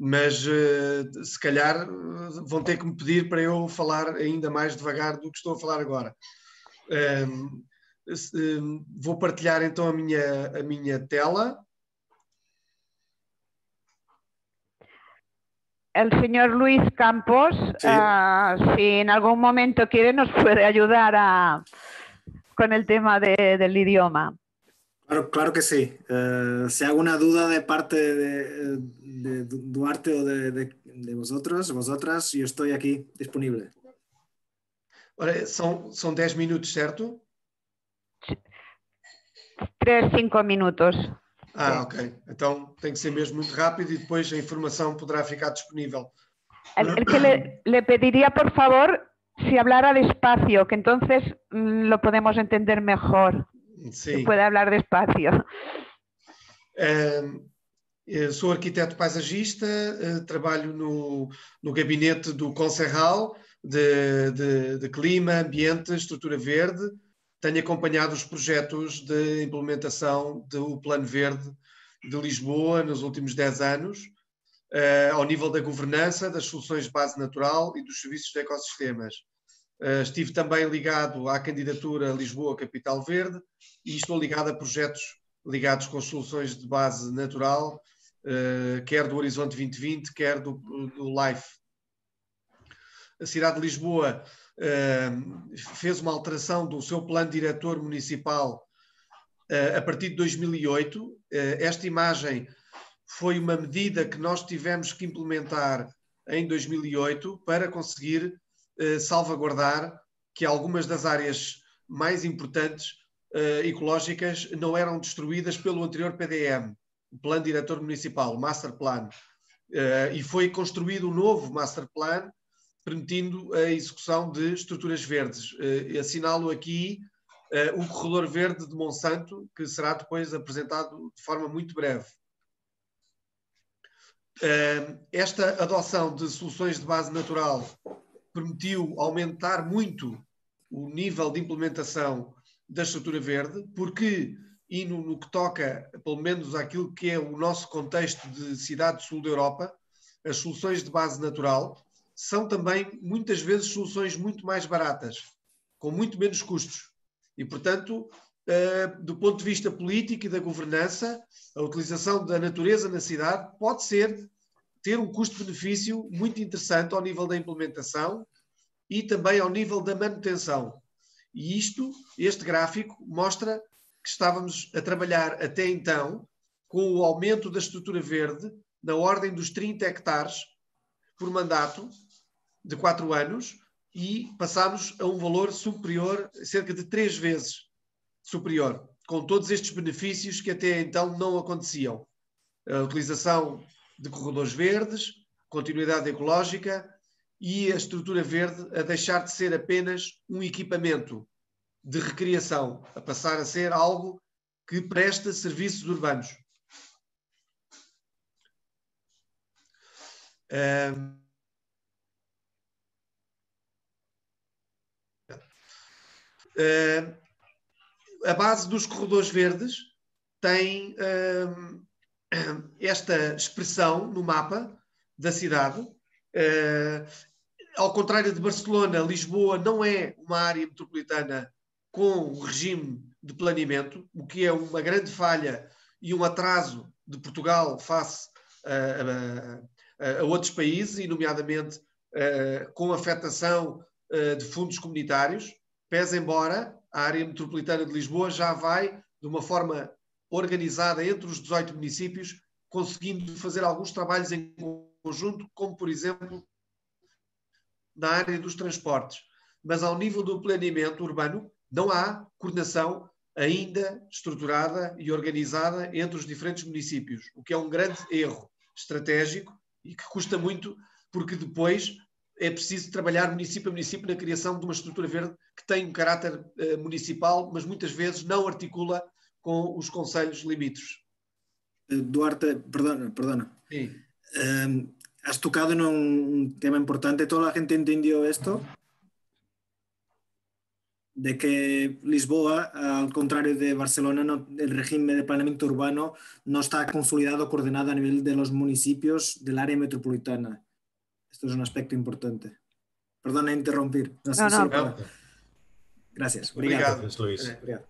mas uh, se calhar vão ter que me pedir para eu falar ainda mais devagar do que estou a falar agora. Um, um, vou partilhar então a minha, a minha tela. El señor Luis Campos, sí. uh, si en algún momento quiere, nos puede ayudar a, con el tema de, del idioma. Claro, claro que sí. Uh, si hay alguna duda de parte de, de Duarte o de, de, de vosotros, vosotras, yo estoy aquí disponible. Ora, são, são dez minutos, certo? Três, cinco minutos. Ah, ok. Então tem que ser mesmo muito rápido e depois a informação poderá ficar disponível. El, el que le, le pediría, por favor, si hablara despacio, que entonces mmm, lo podemos entender mejor. Sí. Si puede hablar despacio. Uh, sou arquiteto paisagista, uh, trabalho no, no gabinete do Concerral de, de, de Clima, Ambiente, Estrutura Verde. Tenho acompanhado os projetos de implementação do Plano Verde de Lisboa nos últimos dez anos, uh, ao nível da governança, das soluções de base natural e dos serviços de ecossistemas. Uh, estive também ligado à candidatura Lisboa Capital Verde e estou ligado a projetos ligados com soluções de base natural, uh, quer do Horizonte vinte vinte, quer do, do LIFE. A cidade de Lisboa Uh, fez uma alteração do seu plano diretor municipal uh, a partir de dois mil e oito. Uh, esta imagem foi uma medida que nós tivemos que implementar em dois mil e oito para conseguir uh, salvaguardar que algumas das áreas mais importantes uh, ecológicas não eram destruídas pelo anterior P D M, o Plano Diretor Municipal, o Master Plan. Uh, e foi construído um novo Master Plan permitindo a execução de estruturas verdes. Uh, assinalo aqui uh, o Corredor Verde de Monsanto, que será depois apresentado de forma muito breve. Uh, esta adoção de soluções de base natural permitiu aumentar muito o nível de implementação da estrutura verde, porque, e no, no que toca, pelo menos àquilo que é o nosso contexto de cidade do sul da Europa, as soluções de base natural são também, muitas vezes, soluções muito mais baratas, com muito menos custos. E, portanto, do ponto de vista político e da governança, a utilização da natureza na cidade pode ser, ter um custo-benefício muito interessante ao nível da implementação e também ao nível da manutenção. E isto, este gráfico, mostra que estávamos a trabalhar até então com o aumento da estrutura verde na ordem dos trinta hectares por mandato, de quatro anos, e passámos a um valor superior, cerca de três vezes superior, com todos estes benefícios que até então não aconteciam. A utilização de corredores verdes, continuidade ecológica e a estrutura verde a deixar de ser apenas um equipamento de recreação, a passar a ser algo que presta serviços urbanos. Um, uh, a base dos corredores verdes tem uh, esta expressão no mapa da cidade. Uh, ao contrário de Barcelona, Lisboa não é uma área metropolitana com um regime de planeamento, o que é uma grande falha e um atraso de Portugal face a, a, a outros países, e nomeadamente uh, com afetação uh, de fundos comunitários, pese embora a área metropolitana de Lisboa já vai de uma forma organizada entre os dezoito municípios, conseguindo fazer alguns trabalhos em conjunto, como por exemplo na área dos transportes. Mas ao nível do planeamento urbano não há coordenação ainda estruturada e organizada entre os diferentes municípios, o que é um grande erro estratégico e que custa muito, porque depois é preciso trabalhar município a município na criação de uma estrutura verde que tem um caráter uh, municipal, mas muitas vezes não articula com os concelhos limítrofes. Duarte, perdona, perdona. Sí. Um, has tocado en un tema importante. ¿Toda la gente entendió esto? De que Lisboa, al contrario de Barcelona, no, el régimen de planeamiento urbano no está consolidado, coordinado a nivel de los municipios del área metropolitana. Esto es un aspecto importante. Perdona interrumpir. No, no, no. Para... Gracias. Obrigado. Obrigado. Luís. Obrigado.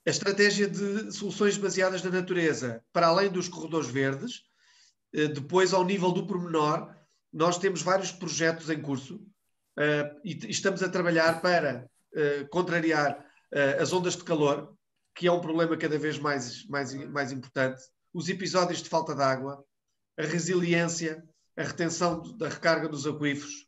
A estratégia de soluções baseadas na natureza, para além dos corredores verdes, depois ao nível do pormenor, nós temos vários projetos em curso uh, e estamos a trabalhar para uh, contrariar uh, as ondas de calor, que é um problema cada vez mais, mais, mais importante, os episódios de falta de água, a resiliência, a retenção da recarga dos aquíferos.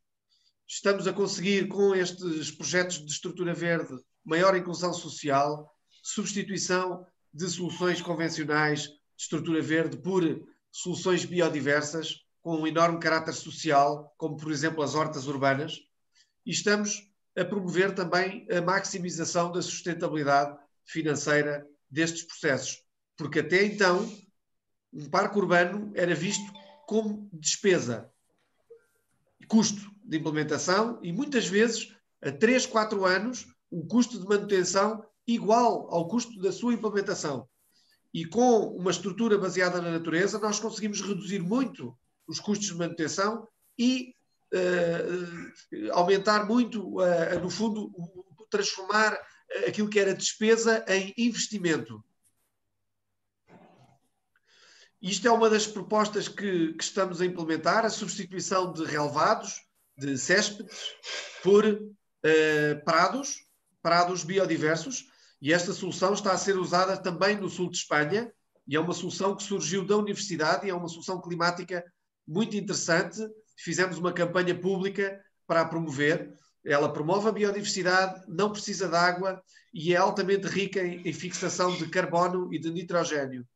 Estamos a conseguir, com estes projetos de estrutura verde, maior inclusão social, substituição de soluções convencionais de estrutura verde por soluções biodiversas, com um enorme caráter social, como por exemplo as hortas urbanas, e estamos a promover também a maximização da sustentabilidade financeira destes processos, porque até então um parque urbano era visto como despesa, custo de implementação e muitas vezes a três, quatro anos um custo de manutenção igual ao custo da sua implementação. E com uma estrutura baseada na natureza nós conseguimos reduzir muito os custos de manutenção e uh, aumentar muito, uh, no fundo, transformar aquilo que era despesa em investimento. Isto é uma das propostas que, que estamos a implementar, a substituição de relevados, de céspedes, por uh, prados, prados biodiversos, e esta solução está a ser usada também no sul de Espanha, e é uma solução que surgiu da universidade, e é uma solução climática muito interessante. Fizemos uma campanha pública para a promover. Ela promove a biodiversidade, não precisa de água e é altamente rica em, em fixação de carbono e de nitrogênio.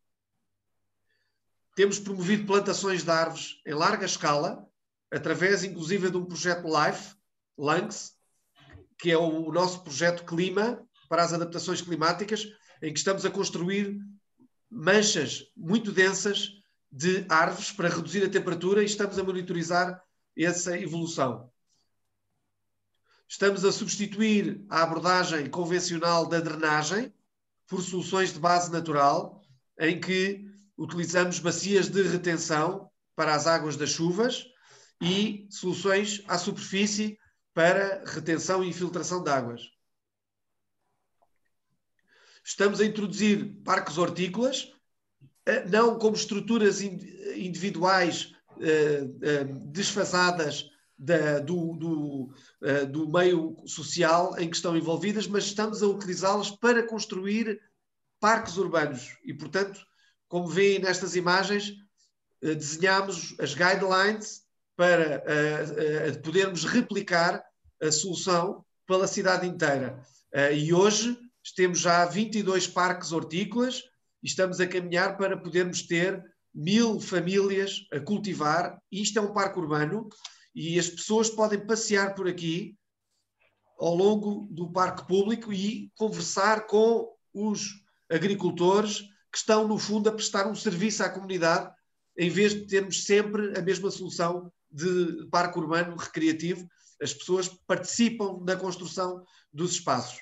Temos promovido plantações de árvores em larga escala, através inclusive de um projeto LIFE, LANX, que é o, o nosso projeto Clima para as adaptações climáticas, em que estamos a construir manchas muito densas de árvores para reduzir a temperatura e estamos a monitorizar essa evolução. Estamos a substituir a abordagem convencional da drenagem por soluções de base natural, em que utilizamos bacias de retenção para as águas das chuvas e soluções à superfície para retenção e infiltração de águas. Estamos a introduzir parques hortícolas, não como estruturas individuais desfasadas da, do, do, do meio social em que estão envolvidas, mas estamos a utilizá-las para construir parques urbanos. E, portanto, como veem nestas imagens, desenhamos as guidelines para podermos replicar a solução pela cidade inteira. E hoje temos já vinte e dois parques hortícolas e estamos a caminhar para podermos ter mil famílias a cultivar. Isto é um parque urbano E as pessoas podem passear por aqui ao longo do parque público e conversar com os agricultores que estão, no fundo, a prestar um serviço à comunidade, em vez de termos sempre a mesma solução de parque urbano recreativo. As pessoas participam na construção dos espaços.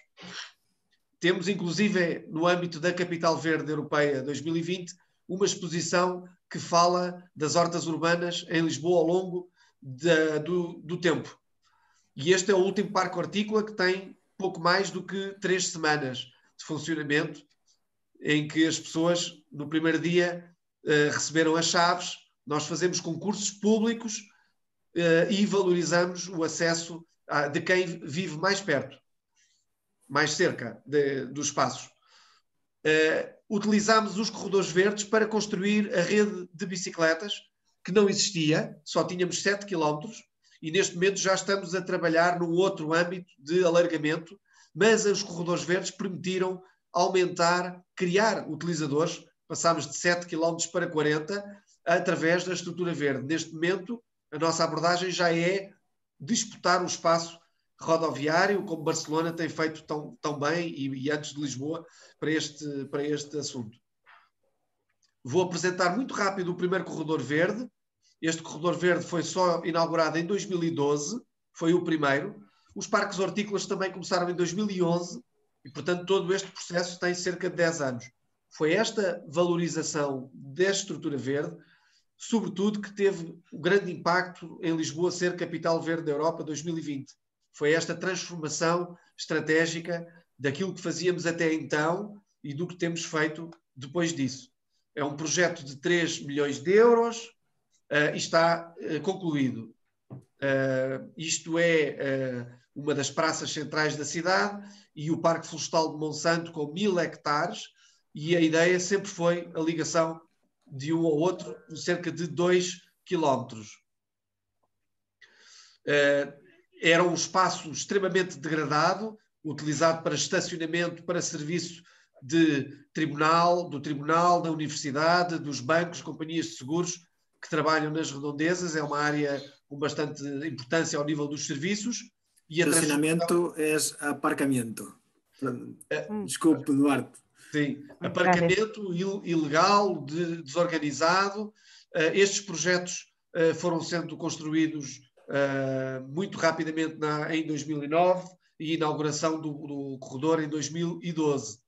Temos, inclusive, no âmbito da Capital Verde Europeia dois mil e vinte, uma exposição que fala das hortas urbanas em Lisboa ao longo da, do, do tempo. E este é o último parque hortícola que tem pouco mais do que três semanas de funcionamento, em que as pessoas, no primeiro dia, uh, receberam as chaves. Nós fazemos concursos públicos uh, e valorizamos o acesso a, de quem vive mais perto, mais cerca de, dos espaços. Uh, utilizámos os corredores verdes para construir a rede de bicicletas, que não existia, só tínhamos sete quilómetros, e neste momento já estamos a trabalhar num outro âmbito de alargamento, mas os corredores verdes permitiram aumentar, criar utilizadores. Passámos de sete quilómetros para quarenta através da estrutura verde. Neste momento, a nossa abordagem já é disputar o espaço rodoviário, como Barcelona tem feito tão, tão bem, e, e antes de Lisboa, para este, para este assunto. Vou apresentar muito rápido o primeiro corredor verde. Este corredor verde foi só inaugurado em dois mil e doze, foi o primeiro. Os parques hortícolas também começaram em dois mil e onze e, portanto, todo este processo tem cerca de dez anos. Foi esta valorização desta estrutura verde, sobretudo, que teve um grande impacto em Lisboa ser Capital Verde da Europa dois mil e vinte. Foi esta transformação estratégica daquilo que fazíamos até então e do que temos feito depois disso. É um projeto de três milhões de euros uh, e está uh, concluído. Uh, isto é uh, uma das praças centrais da cidade e o Parque Florestal de Monsanto com mil hectares, e a ideia sempre foi a ligação de um ao outro de cerca de dois quilómetros. Uh, era um espaço extremamente degradado, utilizado para estacionamento, para serviço de tribunal, do tribunal, da universidade, dos bancos, companhias de seguros que trabalham nas redondezas. É uma área com bastante importância ao nível dos serviços. E estacionamento é aparcamento. Uh, Desculpe, Duarte. Sim, aparcamento ilegal, de, desorganizado. Uh, estes projetos uh, foram sendo construídos uh, muito rapidamente na, em dois mil e nove e inauguração do, do corredor em dois mil e doze.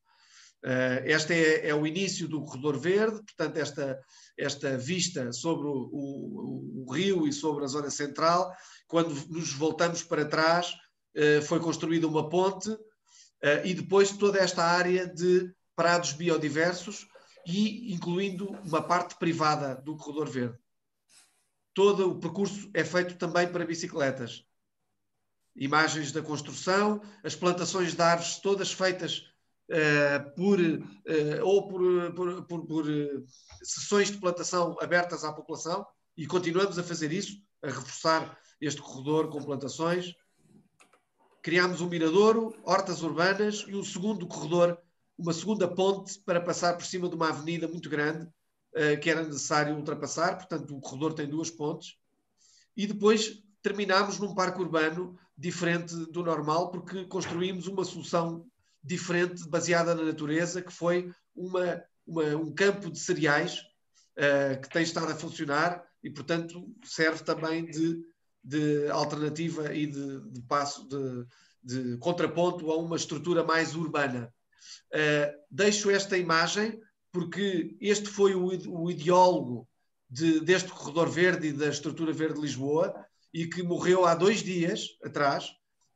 Uh, este é, é o início do corredor verde, portanto esta, esta vista sobre o, o, o rio e sobre a zona central. Quando nos voltamos para trás, uh, foi construída uma ponte uh, e depois toda esta área de prados biodiversos e incluindo uma parte privada do corredor verde. Todo o percurso é feito também para bicicletas. Imagens da construção, as plantações de árvores todas feitas uh, por, uh, ou por, por, por, por uh, sessões de plantação abertas à população, e continuamos a fazer isso, a reforçar este corredor com plantações. Criámos um miradouro, hortas urbanas e um segundo corredor, uma segunda ponte para passar por cima de uma avenida muito grande uh, que era necessário ultrapassar. Portanto, o corredor tem duas pontes. E depois terminámos num parque urbano diferente do normal, porque construímos uma solução diferente, baseada na natureza, que foi uma, uma, um campo de cereais uh, que tem estado a funcionar e, portanto, serve também de, de alternativa e de, de passo, de, de contraponto a uma estrutura mais urbana. Uh, deixo esta imagem porque este foi o, o ideólogo de, deste corredor verde e da estrutura verde de Lisboa, e que morreu há dois dias atrás,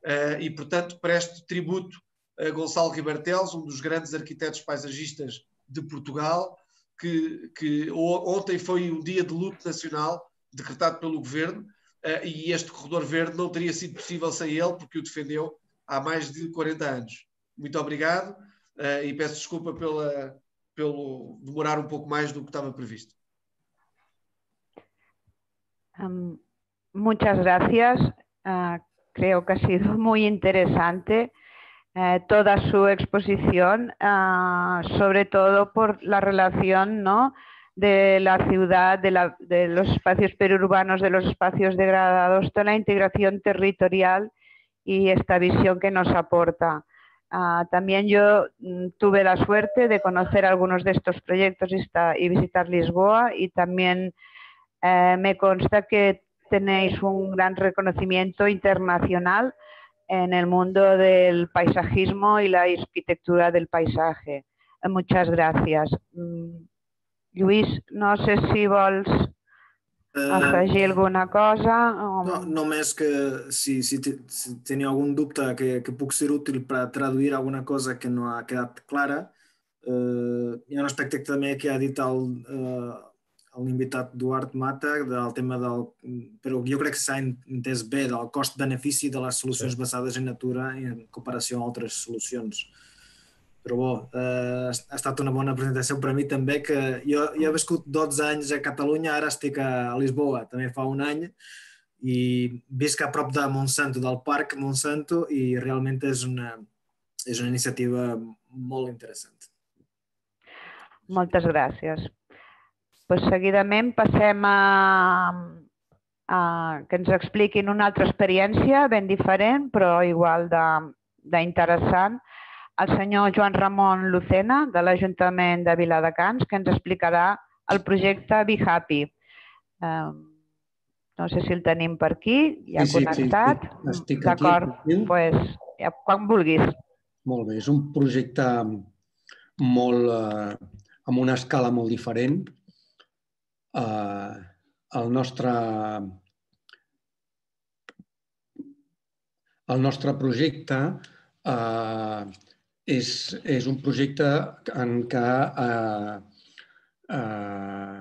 uh, e portanto presto tributo a Gonçalo Ribartelos, um dos grandes arquitetos paisagistas de Portugal, que, que ontem foi um dia de luto nacional decretado pelo governo, uh, e este corredor verde não teria sido possível sem ele, porque o defendeu há mais de quarenta anos. Muito obrigado. Uh, e peço desculpa pela, pelo demorar um pouco mais do que estava previsto. Um, muchas gracias. Uh, creo que ha sido muy interesante uh, toda su exposición, uh, sobre todo por la relación, ¿no?, de la ciudad, de, la, de los espacios periurbanos, de los espacios degradados, toda la integración territorial y esta visión que nos aporta. Uh, también yo mm, tuve la suerte de conocer algunos de estos proyectos y, esta, y visitar Lisboa, y también eh, me consta que tenéis un gran reconocimiento internacional en el mundo del paisajismo y la arquitectura del paisaje. Eh, muchas gracias. Mm, Lluís, no sé si vols afegir uh, alguna cosa. O... No, només que si, si, si teniu algun dubte que, que puc ser útil per traduir alguna cosa que no ha quedat clara, uh, hi ha un aspecte també que ha dit el, uh, l'invitat Duart Mata del tema del, però jo crec que s'ha entès bé, del cost-benefici de les solucions sí. basades en natura en comparació amb altres solucions. Però bo, eh, ha estat una bona presentació per a mi també, que jo, jo he viscut dotze anys a Catalunya, ara estic a Lisboa, també fa un any, i visc a prop de Monsanto, del parc Monsanto, i realment és una, és una iniciativa molt interessant. Moltes gràcies. Pues seguidament passem a, a que ens expliquin una altra experiència ben diferent, però igual d'interessant, el senyor Joan Ramon Lucena, de l'Ajuntament de Viladecans, que ens explicarà el projecte Be Happy. Eh, no sé si el tenim per aquí, ja sí, connectat. Sí, sí, estic aquí. D'acord, pues, ja, quan vulguis. Molt bé, és un projecte molt, eh, amb una escala molt diferent. Eh, el nostre, el nostre projecte eh, És, és un projecte en què eh, eh,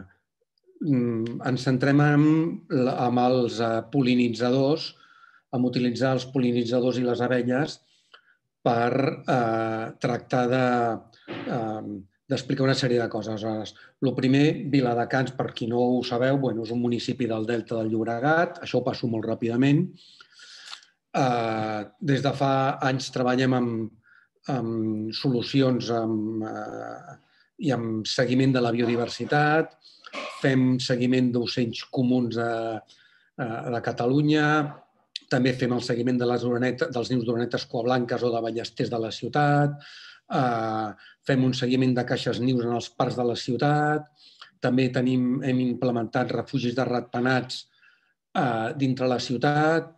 ens centrem en, en els pol·linitzadors, en utilitzar els pol·linitzadors i les abelles per eh, tractar de, eh, d'explicar una sèrie de coses. El primer, Viladecans, per qui no ho sabeu, bueno, és un municipi del Delta del Llobregat, això ho passo molt ràpidament. Eh, des de fa anys treballem amb amb solucions amb, eh, i amb seguiment de la biodiversitat, fem seguiment d'ocells comuns de, de Catalunya, també fem el seguiment de les orenetes, dels nius d'orenetes cuablanques o de ballesters de la ciutat, eh, fem un seguiment de caixes nius en els parcs de la ciutat, també tenim, hem implementat refugis de ratpenats eh, dintre la ciutat,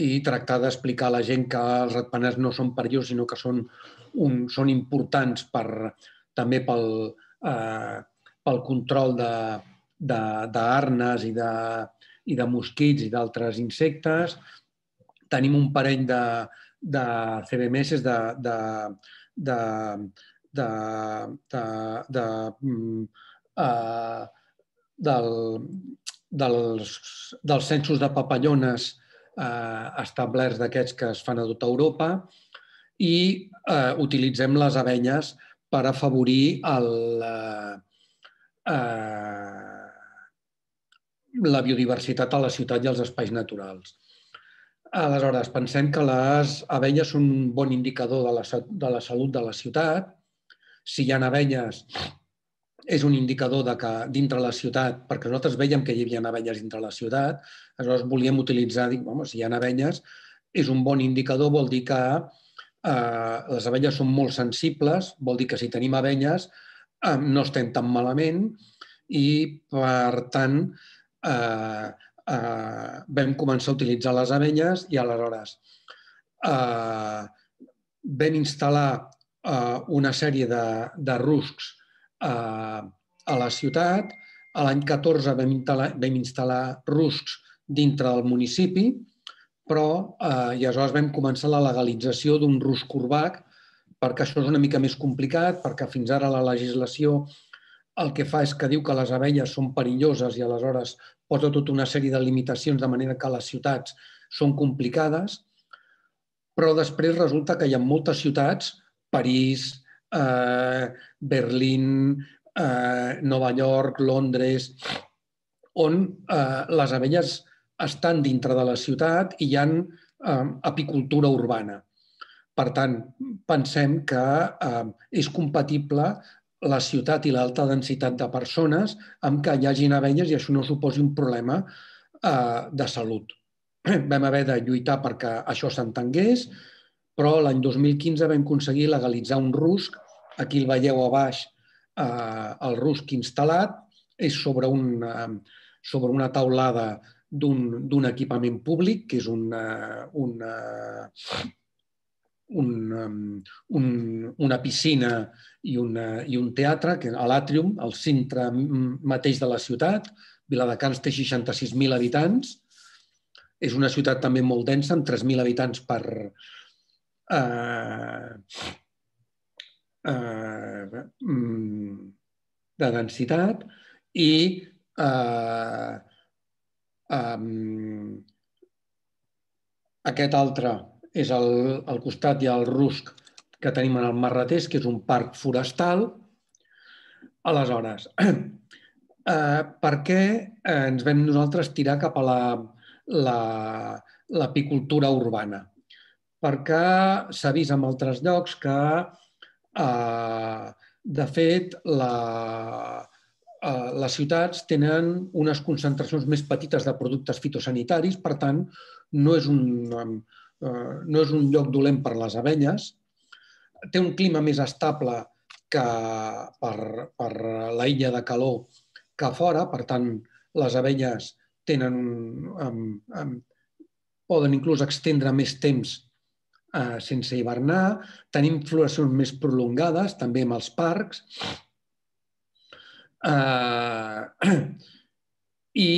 i tractar d'explicar a la gent que els ratpenats no són perillosos, sinó que són, un, són importants per, també pel, eh, pel control d'arnes i, de, i de mosquits i d'altres insectes. Tenim un parell de, de C B M S, de, de, de, de, de, de, uh, del, dels, dels censos de papallones establerts d'aquests que es fan a tota Europa, i eh, utilitzem les abelles per afavorir el, eh, la biodiversitat a la ciutat i als espais naturals. Aleshores, pensem que les abelles són un bon indicador de la, de la salut de la ciutat. Si hi ha abelles, és un indicador de que dintre la ciutat, perquè nosaltres veiem que hi havia abelles dintre la ciutat, aleshores volíem utilitzar, dic, home, si hi ha abelles, és un bon indicador, vol dir que eh, les abelles són molt sensibles, vol dir que si tenim abelles eh, no estem tan malament, i per tant eh, eh, vam començar a utilitzar les abelles i aleshores eh, vam instal·lar eh, una sèrie de, de ruscs a la ciutat. A l'any catorze vam instal·lar ruscs dintre del municipi, però eh, i aleshores vam començar la legalització d'un rusc urbà, perquè això és una mica més complicat, perquè fins ara la legislació el que fa és que diu que les abelles són perilloses i aleshores posa tota una sèrie de limitacions de manera que les ciutats són complicades, però després resulta que hi ha moltes ciutats, París, Eh, Berlín, eh, Nova York, Londres, on eh, les abelles estan dintre de la ciutat i hi ha eh, apicultura urbana. Per tant, pensem que eh, és compatible la ciutat i l'alta densitat de persones amb què hi hagin abelles i això no suposi un problema de salut. Vam haver de lluitar perquè això s'entengués, però l'any dos mil quinze vam aconseguir legalitzar un rusc. Aquí el veieu a baix, el rusc instal·lat, és sobre una taulada d'un equipament públic, que és una piscina i un teatre, a l'Àtrium, al centre mateix de la ciutat. Viladecans té seixanta-sis mil habitants. És una ciutat també molt densa, amb tres mil habitants per de densitat, i aquest altre és al costat, hi ha el rusc que tenim en el Marratès, que és un parc forestal. Aleshores, per què ens vam nosaltres tirar cap a l'apicultura urbana? Perquè s'ha vist en altres llocs que, de fet, les ciutats tenen unes concentracions més petites de productes fitosanitaris, per tant, no és un lloc dolent per les abelles, té un clima més estable que per la illa de calor que a fora, per tant, les abelles poden inclús extendre més temps sense hivernar, tenim floracions més prolongades, també amb els parcs, i,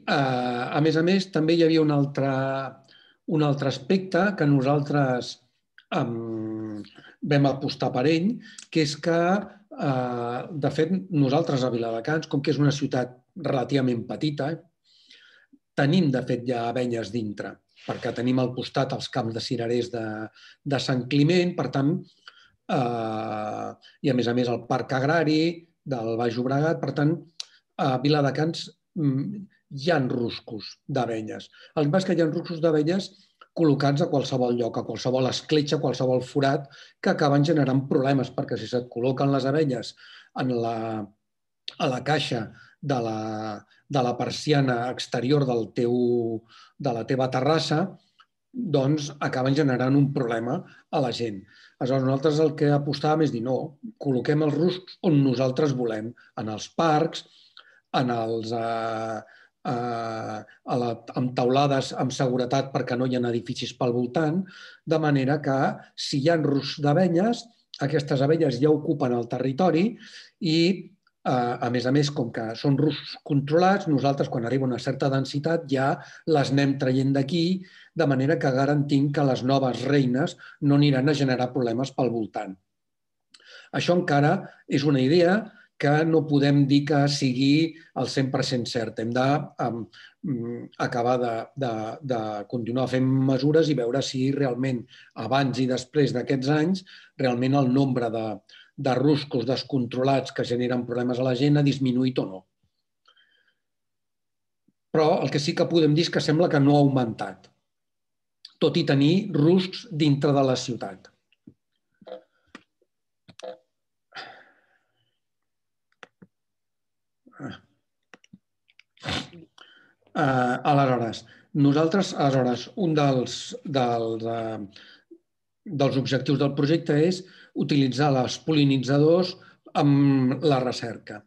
a més a més, també hi havia un altre aspecte que nosaltres vam apostar per ell, que és que, de fet, nosaltres a Viladecans, com que és una ciutat relativament petita, tenim, de fet, ja abelles dintre, perquè tenim al costat els camps de cirerers de Sant Climent, per tant, i a més a més el parc agrari del Baix Llobregat, per tant, a Viladecans hi ha ruscos d'abelles. El que passa és que hi ha ruscos d'abelles col·locats a qualsevol lloc, a qualsevol escletxa, a qualsevol forat, que acaben generant problemes, perquè si se't col·loquen les abelles a la caixa de la persiana exterior de la teva terrassa, doncs acaben generant un problema a la gent. Aleshores, nosaltres el que apostàvem és dir, no, col·loquem els ruscs on nosaltres volem, en els parcs, amb taulades amb seguretat perquè no hi ha edificis pel voltant, de manera que si hi ha ruscs d'abelles, aquestes abelles ja ocupen el territori i, a més a més, com que són ruscs controlats, nosaltres, quan arriba una certa densitat, ja les anem traient d'aquí, de manera que garantim que les noves reines no aniran a generar problemes pel voltant. Això encara és una idea que no podem dir que sigui al cent per cent cert. Hem d'acabar de continuar fent mesures i veure si realment, abans i després d'aquests anys, realment el nombre de ruscos descontrolats que generen problemes a la gent ha disminuït o no. Però el que sí que podem dir és que sembla que no ha augmentat, tot i tenir ruscs dintre de la ciutat. Aleshores, nosaltres, aleshores, un dels objectius del projecte és utilitzar els pol·linitzadors amb la recerca.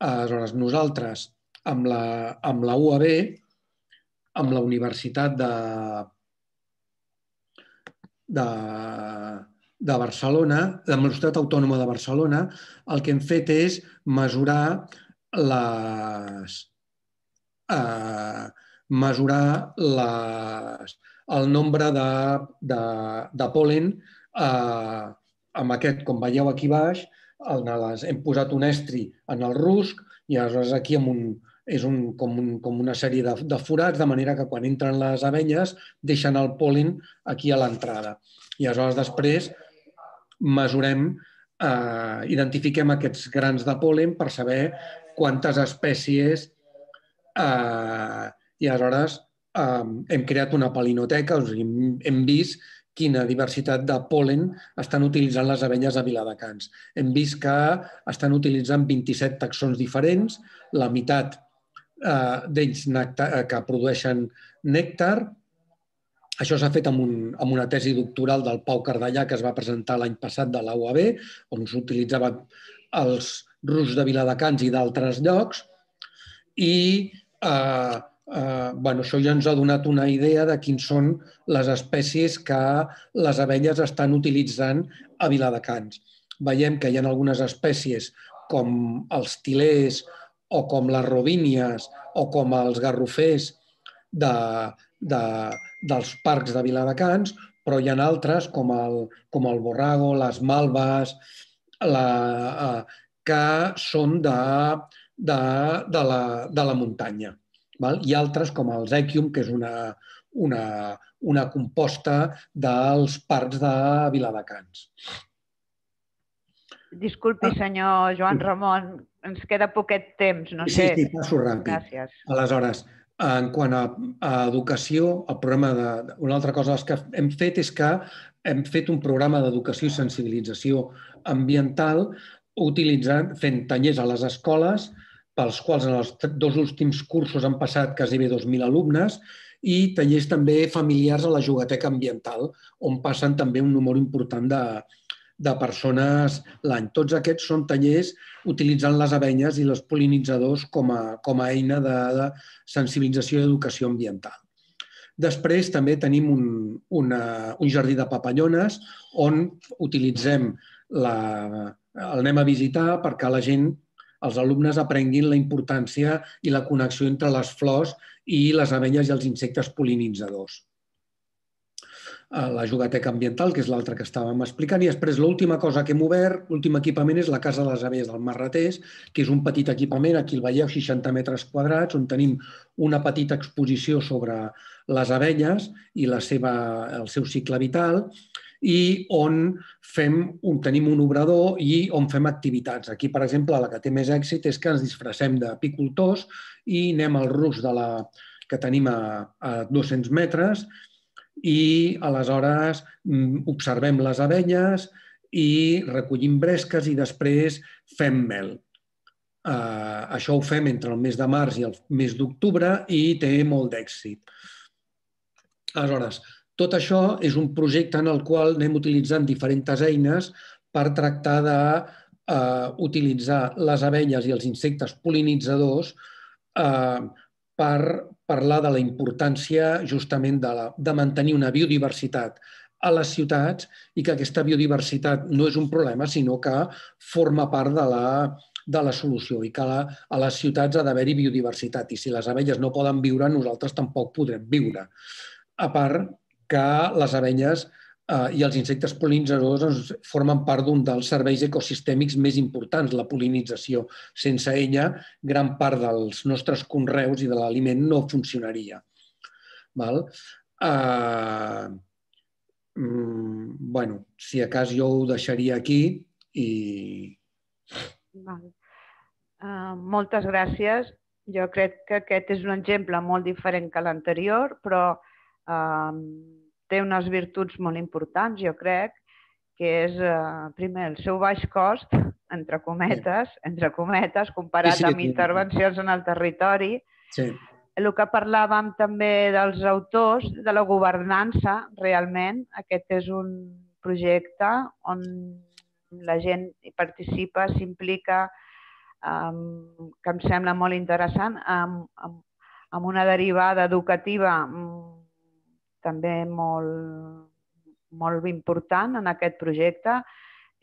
Aleshores, nosaltres, amb la U A B, amb la Universitat de de Barcelona, de la Universitat Autònoma de Barcelona, el que hem fet és mesurar les mesurar el nombre de pol·len amb aquest, com veieu aquí baix, hem posat un estri en el rusc i aleshores aquí és com una sèrie de forats, de manera que quan entren les abelles deixen el pol·len aquí a l'entrada. I aleshores després mesurem, identifiquem aquests grans de pol·len per saber quantes espècies, i aleshores hem creat una palinoteca, hem vist quina diversitat de pol·len estan utilitzant les abelles a Viladecans. Hem vist que estan utilitzant vint-i-set taxons diferents, la meitat d'ells que produeixen nèctar. Això s'ha fet amb, un, amb una tesi doctoral del Pau Cardellà que es va presentar l'any passat de la U A B, on s'utilitzaven els ruscs de Viladecans i d'altres llocs. I eh, eh, bueno, això ja ens ha donat una idea de quins són les espècies que les abelles estan utilitzant a Viladecans. Veiem que hi ha algunes espècies com els tilers o com les robínies o com els garrofers de, de, dels parcs de Viladecans, però hi ha altres com el, com el borrago, les malves, la, eh, que són de, de, de, la, de la muntanya. Val? I altres com el Zequium, que és una, una, una composta dels parcs de Viladecans. Disculpi, senyor Joan Ramon, ens queda poquet temps, no sé. Sí, sí, passo ràpid. Gràcies. Aleshores, en quant a, a educació, el programa de, una altra cosa que hem fet és que hem fet un programa d'educació i sensibilització ambiental utilitzant, fent tallers a les escoles, pels quals en els dos últims cursos han passat quasi dos mil alumnes, i tallers també familiars a la Jugateca Ambiental, on passen també un número important de, de persones l'any. Tots aquests són tallers utilitzant les abelles i els pol·linitzadors com a, com a eina de, de sensibilització i educació ambiental. Després també tenim un, una, un jardí de papallones on utilitzem la, el anem a visitar perquè la gent, els alumnes aprenguin la importància i la connexió entre les flors i les abelles i els insectes pol·linitzadors. La Jugateca Ambiental, que és l'altra que estàvem explicant, i després l'última cosa que hem obert, l'últim equipament és la Casa de les Abelles del Marratès, que és un petit equipament, aquí el veieu, seixanta metres quadrats, on tenim una petita exposició sobre les abelles i la seva, el seu cicle vital, i on fem un, tenim un obrador i on fem activitats. Aquí, per exemple, la que té més èxit és que ens disfressem d'apicultors i anem al rusc de la, que tenim a, a dos-cents metres, i aleshores observem les abelles i recollim bresques i després fem mel. Uh, això ho fem entre el mes de març i el mes d'octubre i té molt d'èxit. Aleshores, tot això és un projecte en el qual anem utilitzant diferents eines per tractar d'utilitzar uh, les abelles i els insectes pol·linitzadors uh, per parlar de la importància justament de, la, de mantenir una biodiversitat a les ciutats i que aquesta biodiversitat no és un problema, sinó que forma part de la, de la solució i que la, a les ciutats ha d'haver-hi biodiversitat i si les abelles no poden viure, nosaltres tampoc podrem viure. A part que les abelles eh, i els insectes pol·linitzadors doncs, formen part d'un dels serveis ecosistèmics més importants, la pol·linització. Sense ella, gran part dels nostres conreus i de l'aliment no funcionaria. Val? Uh, mm, bueno, si a cas jo ho deixaria aquí i... Val. Uh, moltes gràcies. Jo crec que aquest és un exemple molt diferent que l'anterior, però uh, té unes virtuts molt importants, jo crec, que és, eh, primer, el seu baix cost, entre cometes, entre cometes, comparat sí, sí, amb intervencions en el territori. Sí. El que parlàvem també dels autors, de la governança, realment, aquest és un projecte on la gent hi participa, s'implica, eh, que em sembla molt interessant, amb, amb, amb una derivada educativa també molt, molt important en aquest projecte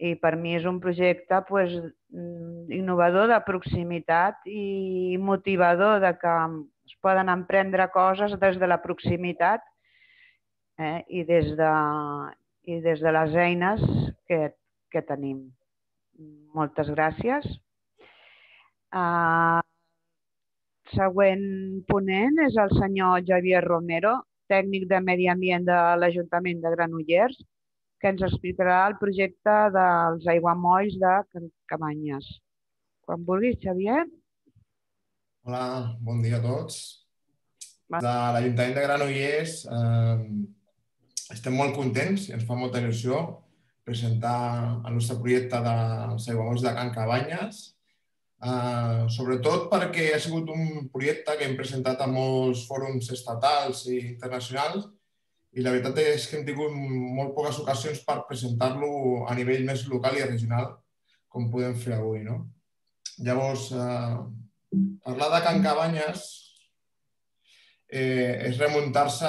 i per mi és un projecte pues, innovador de proximitat i motivador de que es poden emprendre coses des de la proximitat eh, i, des de, i des de les eines que, que tenim. Moltes gràcies. Uh, següent ponent és el senyor Javier Romero, tècnic de Medi Ambient de l'Ajuntament de Granollers, que ens explicarà el projecte dels aiguamolls de Cabanyes. Quan vulguis, Xavier. Hola, bon dia a tots. De l'Ajuntament de Granollers eh, estem molt contents i ens fa molta il·lusió presentar el nostre projecte dels aiguamolls de Can Cabanyes, sobretot perquè ha sigut un projecte que hem presentat a molts fòrums estatals i internacionals i la veritat és que hem tingut molt poques ocasions per presentar-lo a nivell més local i regional, com podem fer avui. Llavors, parlar de Can Cabanyes és remuntar-se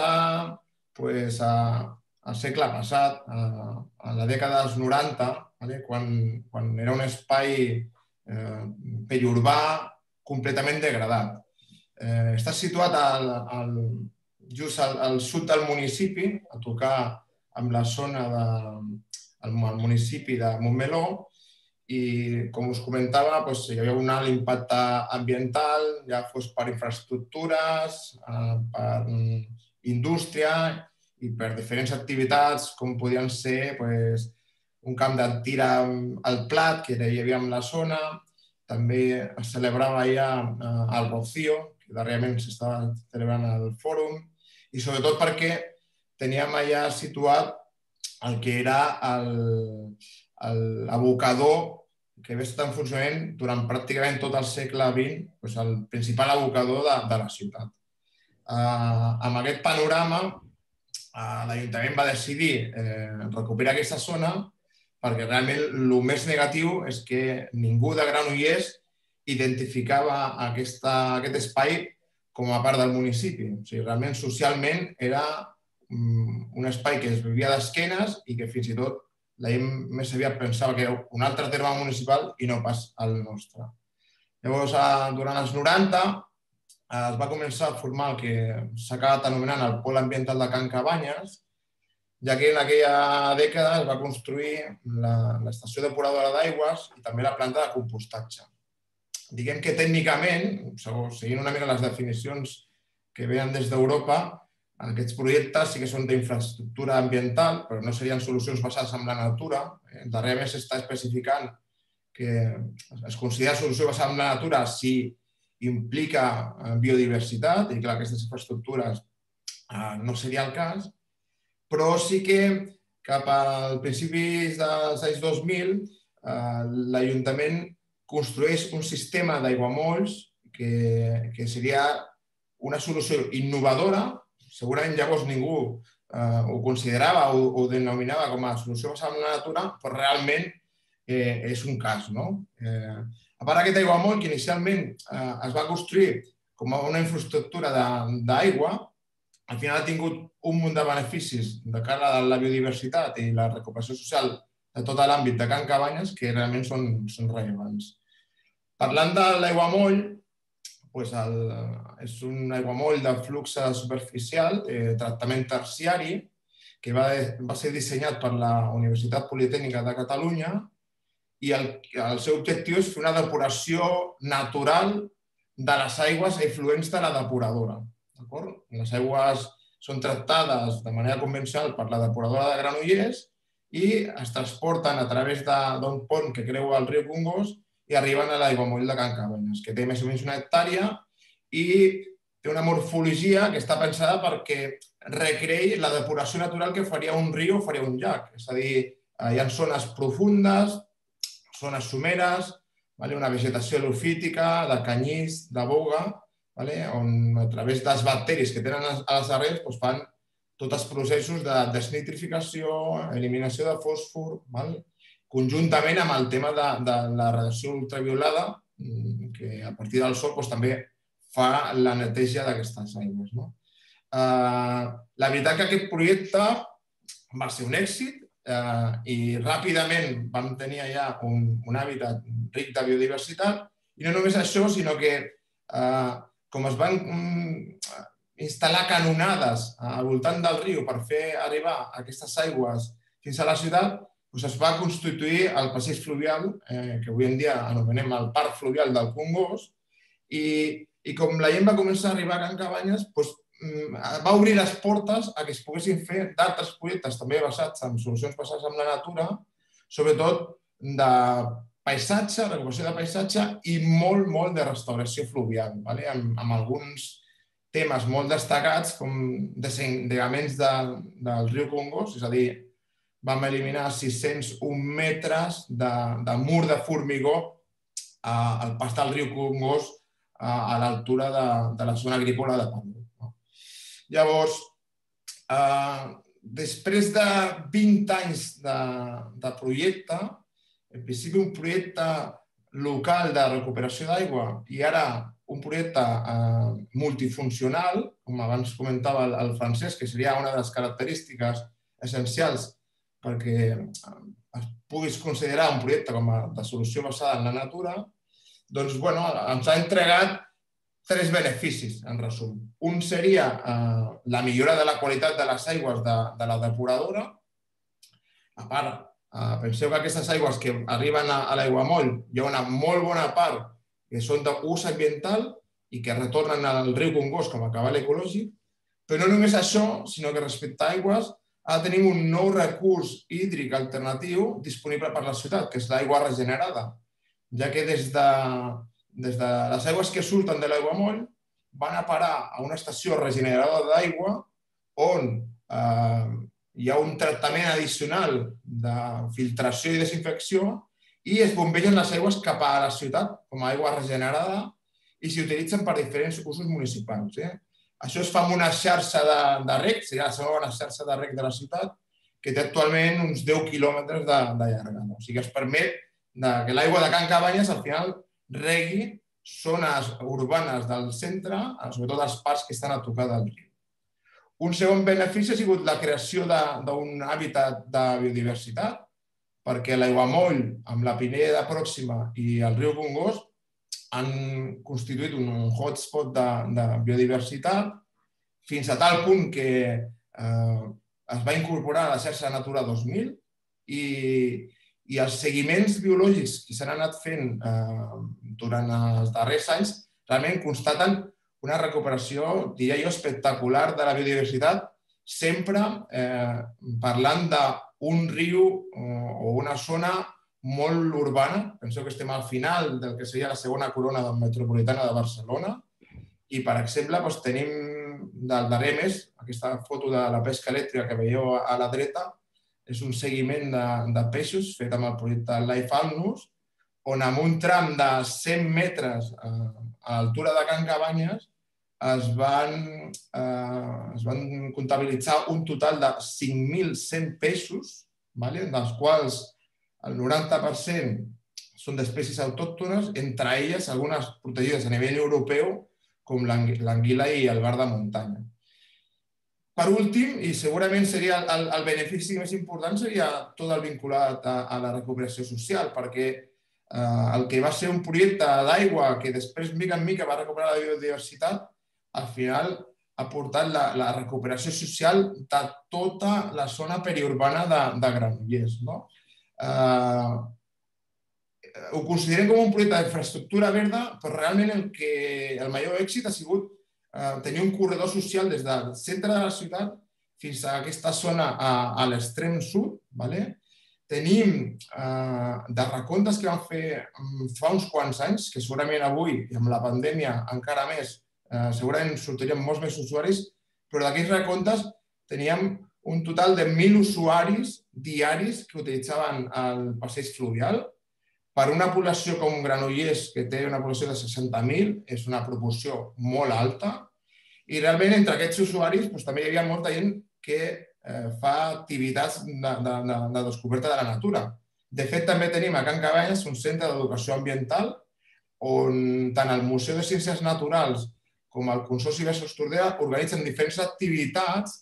al segle passat, a la dècada dels noranta, quan era un espai periurbà completament degradat. Està situat just al sud del municipi, a tocar amb la zona del municipi de Montmeló, i com us comentava, hi havia un alt impacte ambiental, ja fos per infraestructures, per indústria i per diferents activitats, com podien ser un camp de tir al plat que hi havia en la zona. També es celebrava ja el Rocío, que darrerament s'estava celebrant al fòrum, i sobretot perquè teníem allà situat el que era l'abocador que havia estat en funcionament durant pràcticament tot el segle vint, el principal abocador de la ciutat. Amb aquest panorama, l'Ajuntament va decidir recuperar aquesta zona perquè realment el més negatiu és que ningú de Granollers identificava aquest espai com a part del municipi. O sigui, realment, socialment, era un espai que es vivia d'esquenes i que fins i tot la gent més aviat pensava que era un altre terme municipal i no pas el nostre. Llavors, durant els noranta, es va començar a formar el que s'ha acabat anomenant el Pol Ambiental de Can Cabanyes, ja que en aquella dècada es va construir l'estació depuradora d'aigües i també la planta de compostatge. Diguem que tècnicament, seguint una mica les definicions que venen des d'Europa, aquests projectes sí que són d'infraestructura ambiental, però no serien solucions basades en la natura. Darrerament s'està especificant que es considera solució basada en la natura si implica biodiversitat i que aquestes infraestructures no seria el cas, però sí que cap al principis dels anys dos mil l'Ajuntament construeix un sistema d'aiguamolls que seria una solució innovadora. Segurament llavors ningú ho considerava o ho denominava com a solució basada en la natura, però realment és un cas. A part d'aquest aiguamoll, que inicialment es va construir com a una infraestructura d'aigua, al final ha tingut un munt de beneficis de cara a la biodiversitat i la recuperació social de tot l'àmbit de Can Cabanyes que realment són rellevants. Parlant de l'aiguamoll, és un aiguamoll de flux superficial, de tractament terciari, que va ser dissenyat per la Universitat Politècnica de Catalunya i el seu objectiu és fer una depuració natural de les aigües efluents de la depuradora. Les aigües són tractades de manera convencional per la depuradora de Granollers i es transporten a través d'un pont que creua el riu Congost i arriben a l'aiguamoll de Can Cabanyes, que té més o menys una hectàrea i té una morfologia que està pensada perquè recreï la depuració natural que faria un riu o faria un llac. És a dir, hi ha zones profundes, zones someres, una vegetació helofítica, de canyís, de boga, on a través dels bacteris que tenen a les arrels fan tots els processos de desnitrificació, eliminació de fòsfor, conjuntament amb el tema de la radiació ultraviolada, que a partir del sol també fa la neteja d'aquestes aigües. La veritat que aquest projecte va ser un èxit i ràpidament vam tenir ja un hàbitat ric de biodiversitat i no només això, sinó que com es van instal·lar canonades al voltant del riu per fer arribar aquestes aigües fins a la ciutat, es va constituir el passeig fluvial, que avui en dia anomenem el Parc Fluvial del Congost, i com la gent va començar a arribar a Can Cabanyes, va obrir les portes a que es poguessin fer d'altres projectes també basats en solucions basades en la natura, sobretot de paisatge, recuperació de paisatge i molt, molt de restauració fluvial, amb alguns temes molt destacats com desengaments del riu Congost, és a dir, vam eliminar sis-cents un metres de mur de formigó al pas del riu Congost a l'altura de la zona agrícola de Pàndol. Llavors, després de vint anys de projecte, en principi un projecte local de recuperació d'aigua i ara un projecte multifuncional, com abans comentava el Francesc, que seria una de les característiques essencials perquè es puguis considerar un projecte com a de solució basada en la natura, doncs ens ha entregat tres beneficis, en resum. Un seria la millora de la qualitat de les aigües de la depuradora. A part, penseu que aquestes aigües que arriben a l'aiguamoll hi ha una molt bona part que són d'ús ambiental i que retornen al riu Congost com a cabal ecològic, però no només això, sinó que respecte a aigües ara tenim un nou recurs hídric alternatiu disponible per la ciutat, que és l'aigua regenerada, ja que des de les aigües que surten de l'aiguamoll van a parar a una estació regeneradora d'aigua on hi ha un tractament addicional de filtració i desinfecció i es bombegen les aigües cap a la ciutat com a aigua regenerada i s'utilitzen per diferents usos municipals. Això es fa amb una xarxa de reg, seria la segona xarxa de reg de la ciutat, que té actualment uns deu quilòmetres de llargada. O sigui, es permet que l'aigua de Can Cabanyes al final regui zones urbanes del centre, sobretot els parcs que estan a tocar del riu. Un segon benefici ha sigut la creació d'un hàbitat de biodiversitat, perquè l'aiguamoll amb la Pineda Pròxima i el riu Congost han constituït un hotspot de biodiversitat fins a tal punt que es va incorporar a la xarxa Natura dos mil i els seguiments biològics que s'han anat fent durant els darrers anys realment constaten una recuperació, diria jo, espectacular de la biodiversitat, sempre parlant d'un riu o una zona molt urbana. Penseu que estem al final del que seria la segona corona metropolitana de Barcelona i, per exemple, tenim del darrer mes, aquesta foto de la pesca elèctrica que veieu a la dreta, és un seguiment de peixos fet amb el projecte Life Alnus, on amb un tram de cent metres a l'altura de Can Cabanyes es van comptabilitzar un total de cinc mil cent peixos, dels quals el noranta per cent són d'espècies autòctones, entre elles algunes protegides a nivell europeu, com l'anguila i el bar de muntanya. Per últim, i segurament seria el benefici més important, seria tot el vinculat a la recuperació social, perquè el que va ser un projecte d'aigua que després, mica en mica, va recuperar la biodiversitat, al final ha portat la recuperació social de tota la zona periurbana de Granollers. Ho considerem com un projecte d'infraestructura verda, però realment el major èxit ha sigut tenir un corredor social des del centre de la ciutat fins a aquesta zona a l'extrem sud. Tenim de recomptes que vam fer fa uns quants anys, que segurament avui, i amb la pandèmia encara més, segurament sortirien molts més usuaris, però d'aquests recomptes teníem un total de mil usuaris diaris que utilitzaven el passeig fluvial. Per una població com Granollers, que té una població de seixanta mil, és una proporció molt alta. I realment entre aquests usuaris també hi havia molta gent que fa activitats de descoberta de la natura. De fet, també tenim a Can Cabanyes un centre d'educació ambiental on tant el Museu de Ciències Naturals com el Consorci Besòs Tordera organitzen diferents activitats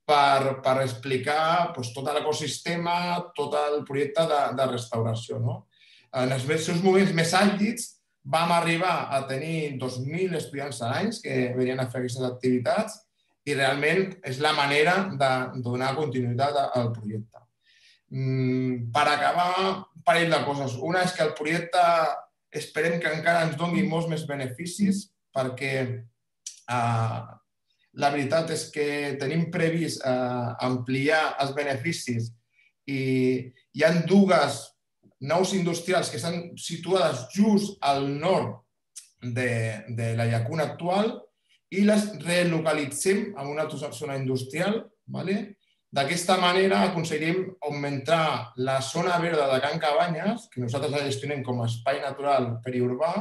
per explicar tot l'ecosistema, tot el projecte de restauració. En els seus moments més àlgids vam arribar a tenir dos mil estudiants a l'any que venien a fer aquestes activitats i realment és la manera de donar continuïtat al projecte. Per acabar, un parell de coses. Una és que el projecte esperem que encara ens doni molts més beneficis perquè la veritat és que tenim previst ampliar els beneficis i hi ha dues naus industrials que estan situades just al nord de la llacuna actual i les relocalitzem en una altra zona industrial. D'aquesta manera aconseguirem augmentar la zona verda de Can Cabanyes, que nosaltres la gestionem com a espai natural periurbà,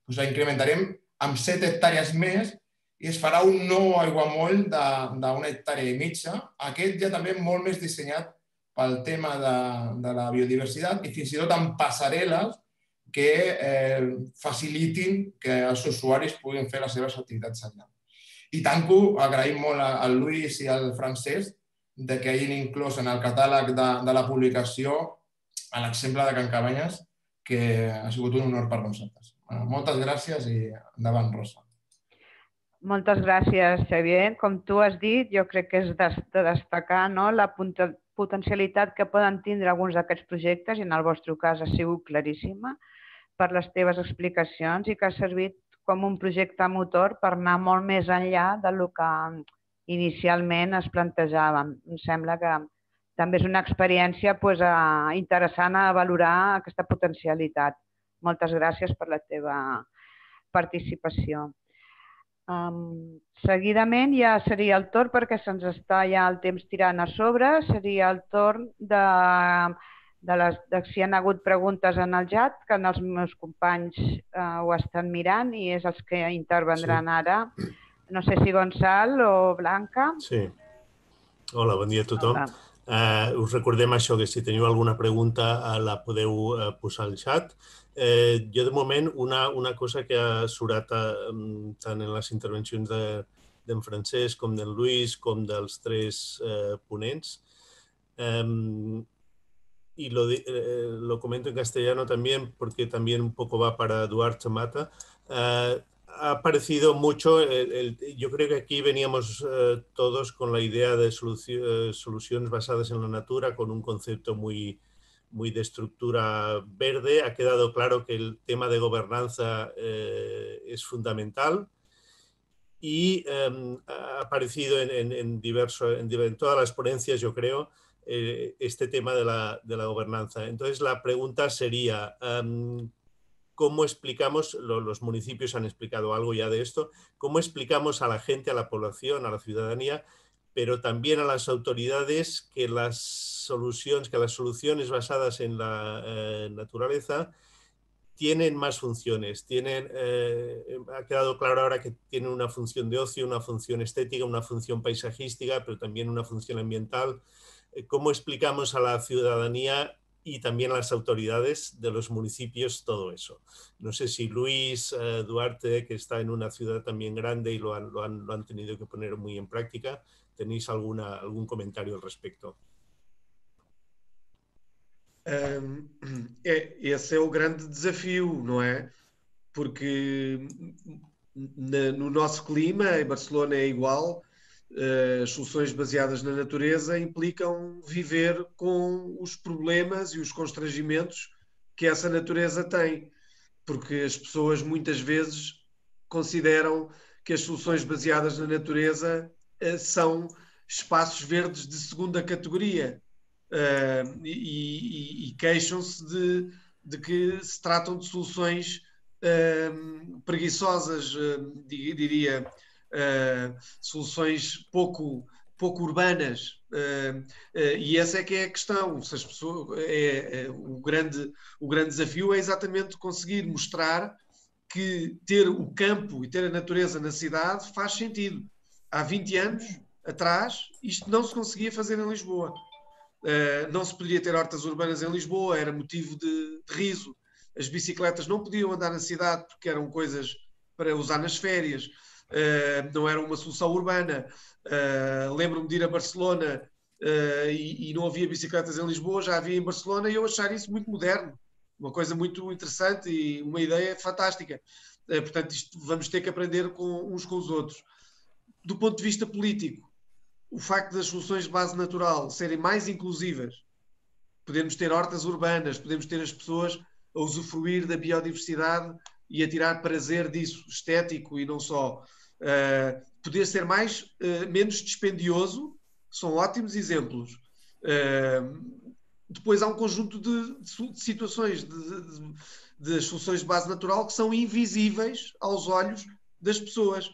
doncs la incrementarem amb set hectàrees més i es farà un nou aiguamoll d'una hectàrea i mitja. Aquest ja també molt més dissenyat pel tema de la biodiversitat i fins i tot amb passarel·les que facilitin que els usuaris puguin fer les seves activitats allà. I tanco, agraïm molt al Lluís i al Francesc que hagin inclòs en el catàleg de la publicació l'exemple de Can Cabanyes, que ha sigut un honor per nosaltres. Moltes gràcies i endavant, Rosa. Moltes gràcies, Xavier. Com tu has dit, jo crec que és de destacar la potencialitat que poden tindre alguns d'aquests projectes, i en el vostre cas ha sigut claríssima, per les teves explicacions i que ha servit com un projecte motor per anar molt més enllà del que inicialment es plantejava. Em sembla que també és una experiència interessant a valorar aquesta potencialitat. Moltes gràcies per la teva participació. Seguidament ja seria el torn, perquè se'ns està ja el temps tirant a sobre, seria el torn de si hi ha hagut preguntes en el xat, que els meus companys ho estan mirant i és els que intervendran ara. No sé si Gonçal o Blanca. Sí. Hola, bon dia a tothom. Us recordem això, que si teniu alguna pregunta la podeu posar al xat. Jo, de moment, una cosa que ha surat tant en les intervencions d'en Francesc com d'en Lluís com dels tres ponents, y lo, eh, lo comento en castellano también porque también un poco va para Eduard Chamata, eh, ha parecido mucho, el, el, yo creo que aquí veníamos eh, todos con la idea de solución, soluciones basadas en la natura, con un concepto muy, muy de estructura verde. Ha quedado claro que el tema de gobernanza eh, es fundamental y eh, ha aparecido en, en, en, diverso, en, en todas las ponencias, yo creo, este tema de la, de la gobernanza. Entonces, la pregunta sería, um, ¿cómo explicamos, lo, los municipios han explicado algo ya de esto, cómo explicamos a la gente, a la población, a la ciudadanía, pero también a las autoridades que las soluciones, que las soluciones basadas en la eh, naturaleza tienen más funciones? Tienen, eh, ha quedado claro ahora que tienen una función de ocio, una función estética, una función paisajística, pero también una función ambiental. ¿Cómo explicamos a la ciudadanía y también a las autoridades de los municipios todo eso? No sé si Luis, eh, Duarte, que está en una ciudad también grande y lo han, lo han, lo han tenido que poner muy en práctica, ¿tenéis alguna, algún comentario al respecto? Um, é, esse é o grande desafio, não é? Porque na, no nosso clima, em Barcelona é igual. As soluções baseadas na natureza implicam viver com os problemas e os constrangimentos que essa natureza tem, porque as pessoas muitas vezes consideram que as soluções baseadas na natureza são espaços verdes de segunda categoria e, e, e queixam-se de, de que se tratam de soluções preguiçosas, diria. Uh, soluções pouco, pouco urbanas uh, uh, e essa é que é a questão. Se as pessoas, é, é, o, grande, o grande desafio é exatamente conseguir mostrar que ter o campo e ter a natureza na cidade faz sentido. Há vinte anos atrás isto não se conseguia fazer em Lisboa, uh, não se podia ter hortas urbanas em Lisboa, era motivo de, de riso. As bicicletas não podiam andar na cidade porque eram coisas para usar nas férias. Uh, não era uma solução urbana. Uh, lembro-me de ir a Barcelona uh, e, e não havia bicicletas em Lisboa, já havia em Barcelona, e eu achar isso muito moderno, uma coisa muito interessante e uma ideia fantástica. Uh, portanto, isto vamos ter que aprender com, uns com os outros. Do ponto de vista político, o facto das soluções de base natural serem mais inclusivas, podemos ter hortas urbanas, podemos ter as pessoas a usufruir da biodiversidade e a tirar prazer disso, estético e não só. Uh, poder ser mais, uh, menos dispendioso, são ótimos exemplos. Uh, depois há um conjunto de, de situações, de, de, de soluções de base natural que são invisíveis aos olhos das pessoas.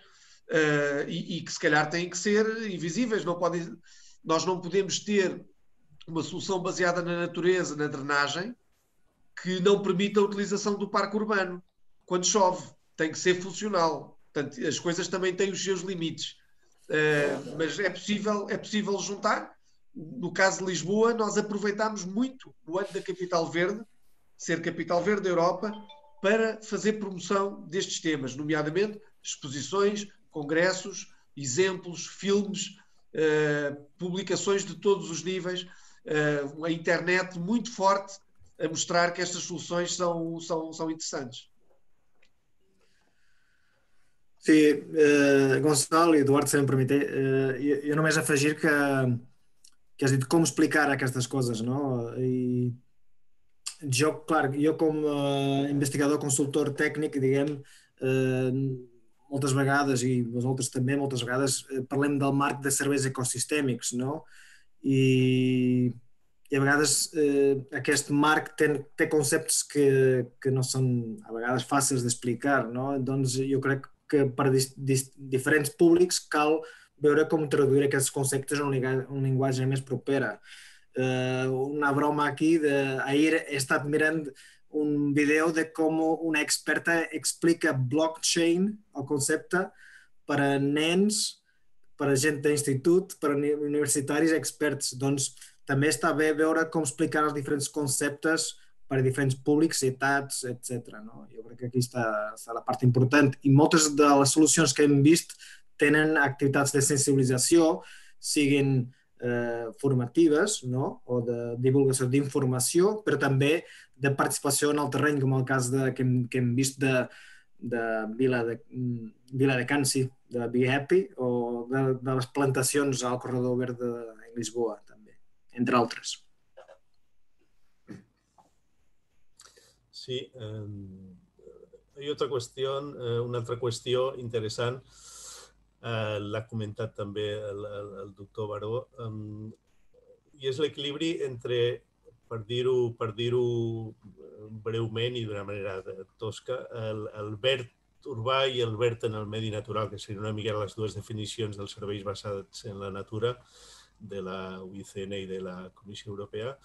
uh, e, e que se calhar têm que ser invisíveis. Não podem, nós não podemos ter uma solução baseada na natureza, na drenagem, que não permita a utilização do parque urbano. Quando chove, tem que ser funcional. Portanto, as coisas também têm os seus limites. Uh, mas é possível, é possível juntar. No caso de Lisboa, nós aproveitámos muito o ano da Capital Verde, ser Capital Verde da Europa, para fazer promoção destes temas, nomeadamente exposições, congressos, exemplos, filmes, uh, publicações de todos os níveis, uh, a internet muito forte a mostrar que estas soluções são, são, são interessantes. Sí, uh, Gonçalo i Eduard, si em permeteu, uh, jo, jo només afegir que, que has dit com explicar aquestes coses, no? I jo, clar, jo com uh, investigador, consultor tècnic, diguem, uh, moltes vegades, i vosaltres també moltes vegades, uh, parlem del marc de serveis ecosistèmics, no? I, i a vegades eh, aquest marc té, té conceptes que, que no són a vegades fàcils d'explicar, no? Doncs jo crec que per dis, dis, diferents públics cal veure com traduir aquests conceptes en un, un llenguatge més propera. Eh, una broma aquí, de, ahir he estat mirant un vídeo de com una experta explica blockchain, el concepte, per a nens, per a gent d'institut, per a universitaris experts. Doncs també està bé veure com explicar els diferents conceptes per a diferents públics, ciutats, etcètera. No? Jo crec que aquí està, està la part important. I moltes de les solucions que hem vist tenen activitats de sensibilització, siguin eh, formatives, no? O de divulgació d'informació, però també de participació en el terreny, com el cas de, que, hem, que hem vist de, de Vila de, Vila de Cansi, de Be Happy, o de, de les plantacions al Corredor Verd de Lisboa, també, entre altres. Sí, eh, hay otra cuestión, eh, una altra qüestió interessant, eh, l'ha comentat també el, el, el doctor Baró, eh, i és l'equilibri entre, per dir-ho per dir-ho breument i d'una manera tosca, el, el verd urbà i el verd en el medi natural, que serien una mica les dues definicions dels serveis basats en la natura de la U I C N i de la Comissió Europea.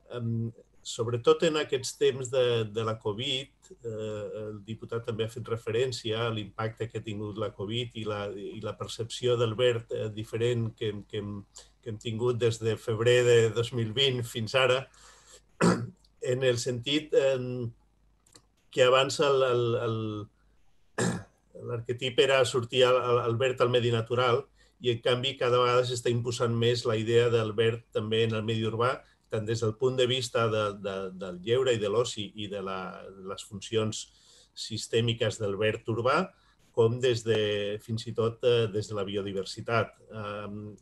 Eh, Sobretot en aquests temps de, de la Covid, eh, el diputat també ha fet referència a l'impacte que ha tingut la Covid i la, i la percepció del verd eh, diferent que, que, hem, que hem tingut des de febrer de dos mil vint fins ara, en el sentit eh, que abans l'arquetip era sortir al, al verd al medi natural i en canvi cada vegada s'està imposant més la idea del verd també en el medi urbà, tant des del punt de vista de, de, del lleure i de l'oci i de, la, de les funcions sistèmiques del verd urbà, com des de, fins i tot eh, des de la biodiversitat. Eh,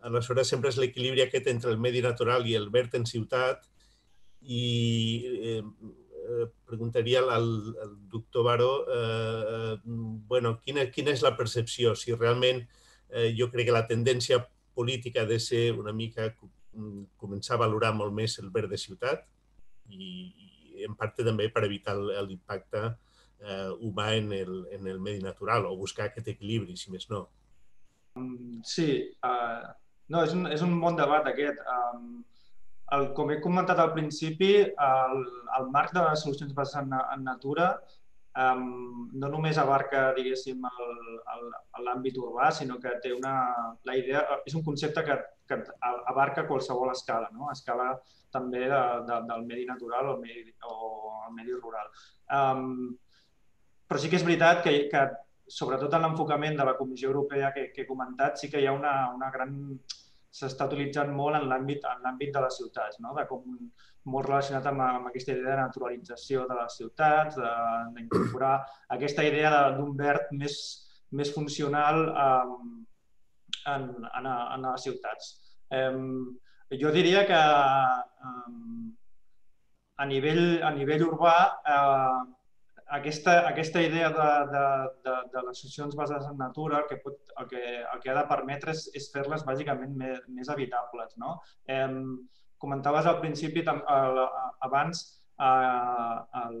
aleshores, sempre és l'equilibri aquest entre el medi natural i el verd en ciutat i eh, eh, preguntaria al, al doctor Baró eh, bueno, quina, quina és la percepció, si realment eh, jo crec que la tendència política ha de ser una mica començar a valorar molt més el verd de ciutat i, i en part també per evitar l'impacte eh, humà en el, en el medi natural o buscar aquest equilibri, si més no. Sí, uh, no, és, un, és un bon debat aquest. Um, el, com he comentat al principi, el, el marc de les solucions basades en, en natura um, no només abarca, diguéssim, l'àmbit urbà, sinó que té una... La idea, és un concepte que que abarca qualsevol escala, no? Escala també de, de, del medi natural o el medi, o el medi rural. Um, però sí que és veritat que, que sobretot en l'enfocament de la Comissió Europea que, que he comentat, sí que hi ha una, una gran... s'està utilitzant molt en l'àmbit en l'àmbit de les ciutats, no? De com, molt relacionat amb, amb aquesta idea de naturalització de les ciutats, d'incorporar aquesta idea d'un verd més, més funcional um, en, en, en les ciutats. Um, jo diria que um, a, nivell, a nivell urbà uh, aquesta, aquesta idea de, de, de, de les solucions basades en natura el que, pot, el que, el que ha de permetre és, és fer-les bàsicament més, més habitables. No? Um, comentaves al principi, abans, uh, el,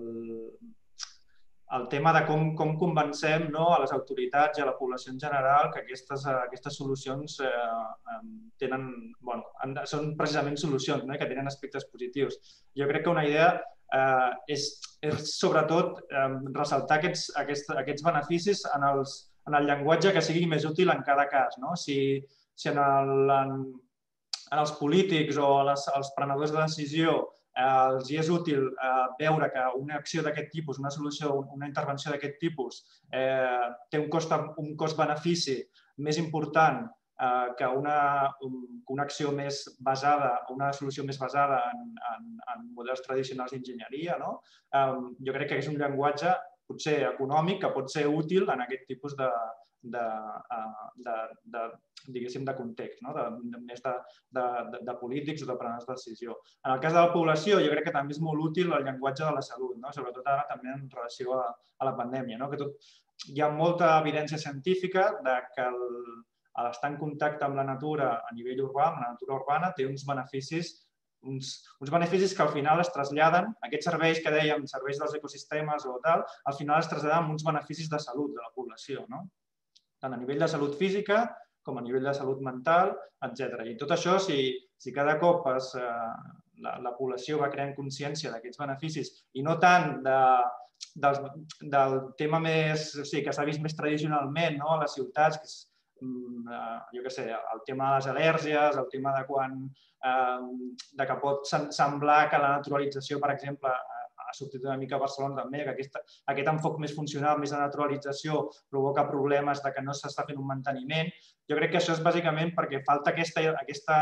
el tema de com, com convencem, no, a les autoritats i a la població en general que aquestes, aquestes solucions eh, tenen, bueno, són precisament solucions, no, que tenen aspectes positius. Jo crec que una idea eh, és, és sobretot eh, ressaltar aquests, aquests, aquests beneficis en, els, en el llenguatge que sigui més útil en cada cas. No? Si, si en, el, en, en els polítics o les, els prenedors de decisió Eh, els hi és útil eh, veure que una acció d'aquest tipus, una solució, una intervenció d'aquest tipus eh, té un cost, un cost-benefici més important eh, que una, un, una acció més basada, una solució més basada en, en, en models tradicionals d'enginyeria, no? Eh, jo crec que és un llenguatge potser econòmic que pot ser útil en aquest tipus de, de, de, de, diguéssim, de context, no? de, de, més de, de, de polítics o de prenedors de decisió. En el cas de la població, jo crec que també és molt útil el llenguatge de la salut, no? Sobretot ara també en relació a, a la pandèmia. No? Que tot, hi ha molta evidència científica de que l'estar en contacte amb la natura a nivell urbà, amb la natura urbana, té uns beneficis Uns, uns beneficis que al final es traslladen, aquests serveis que dèiem, serveis dels ecosistemes o tal, al final es traslladen amb uns beneficis de salut de la població, no? Tant a nivell de salut física com a nivell de salut mental, etcètera. I tot això, si, si cada cop es, eh, la, la població va creant consciència d'aquests beneficis i no tant de, del, del tema més, o sigui, que s'ha vist més tradicionalment, no? A les ciutats, que és, jo què sé, el tema de les al·lèrgies, el tema de quan de que pot semblar que la naturalització, per exemple, ha sortit una mica a Barcelona també, que aquest, aquest enfoc més funcional, més de naturalització, provoca problemes de que no s'està fent un manteniment. Jo crec que això és bàsicament perquè falta aquesta, aquesta,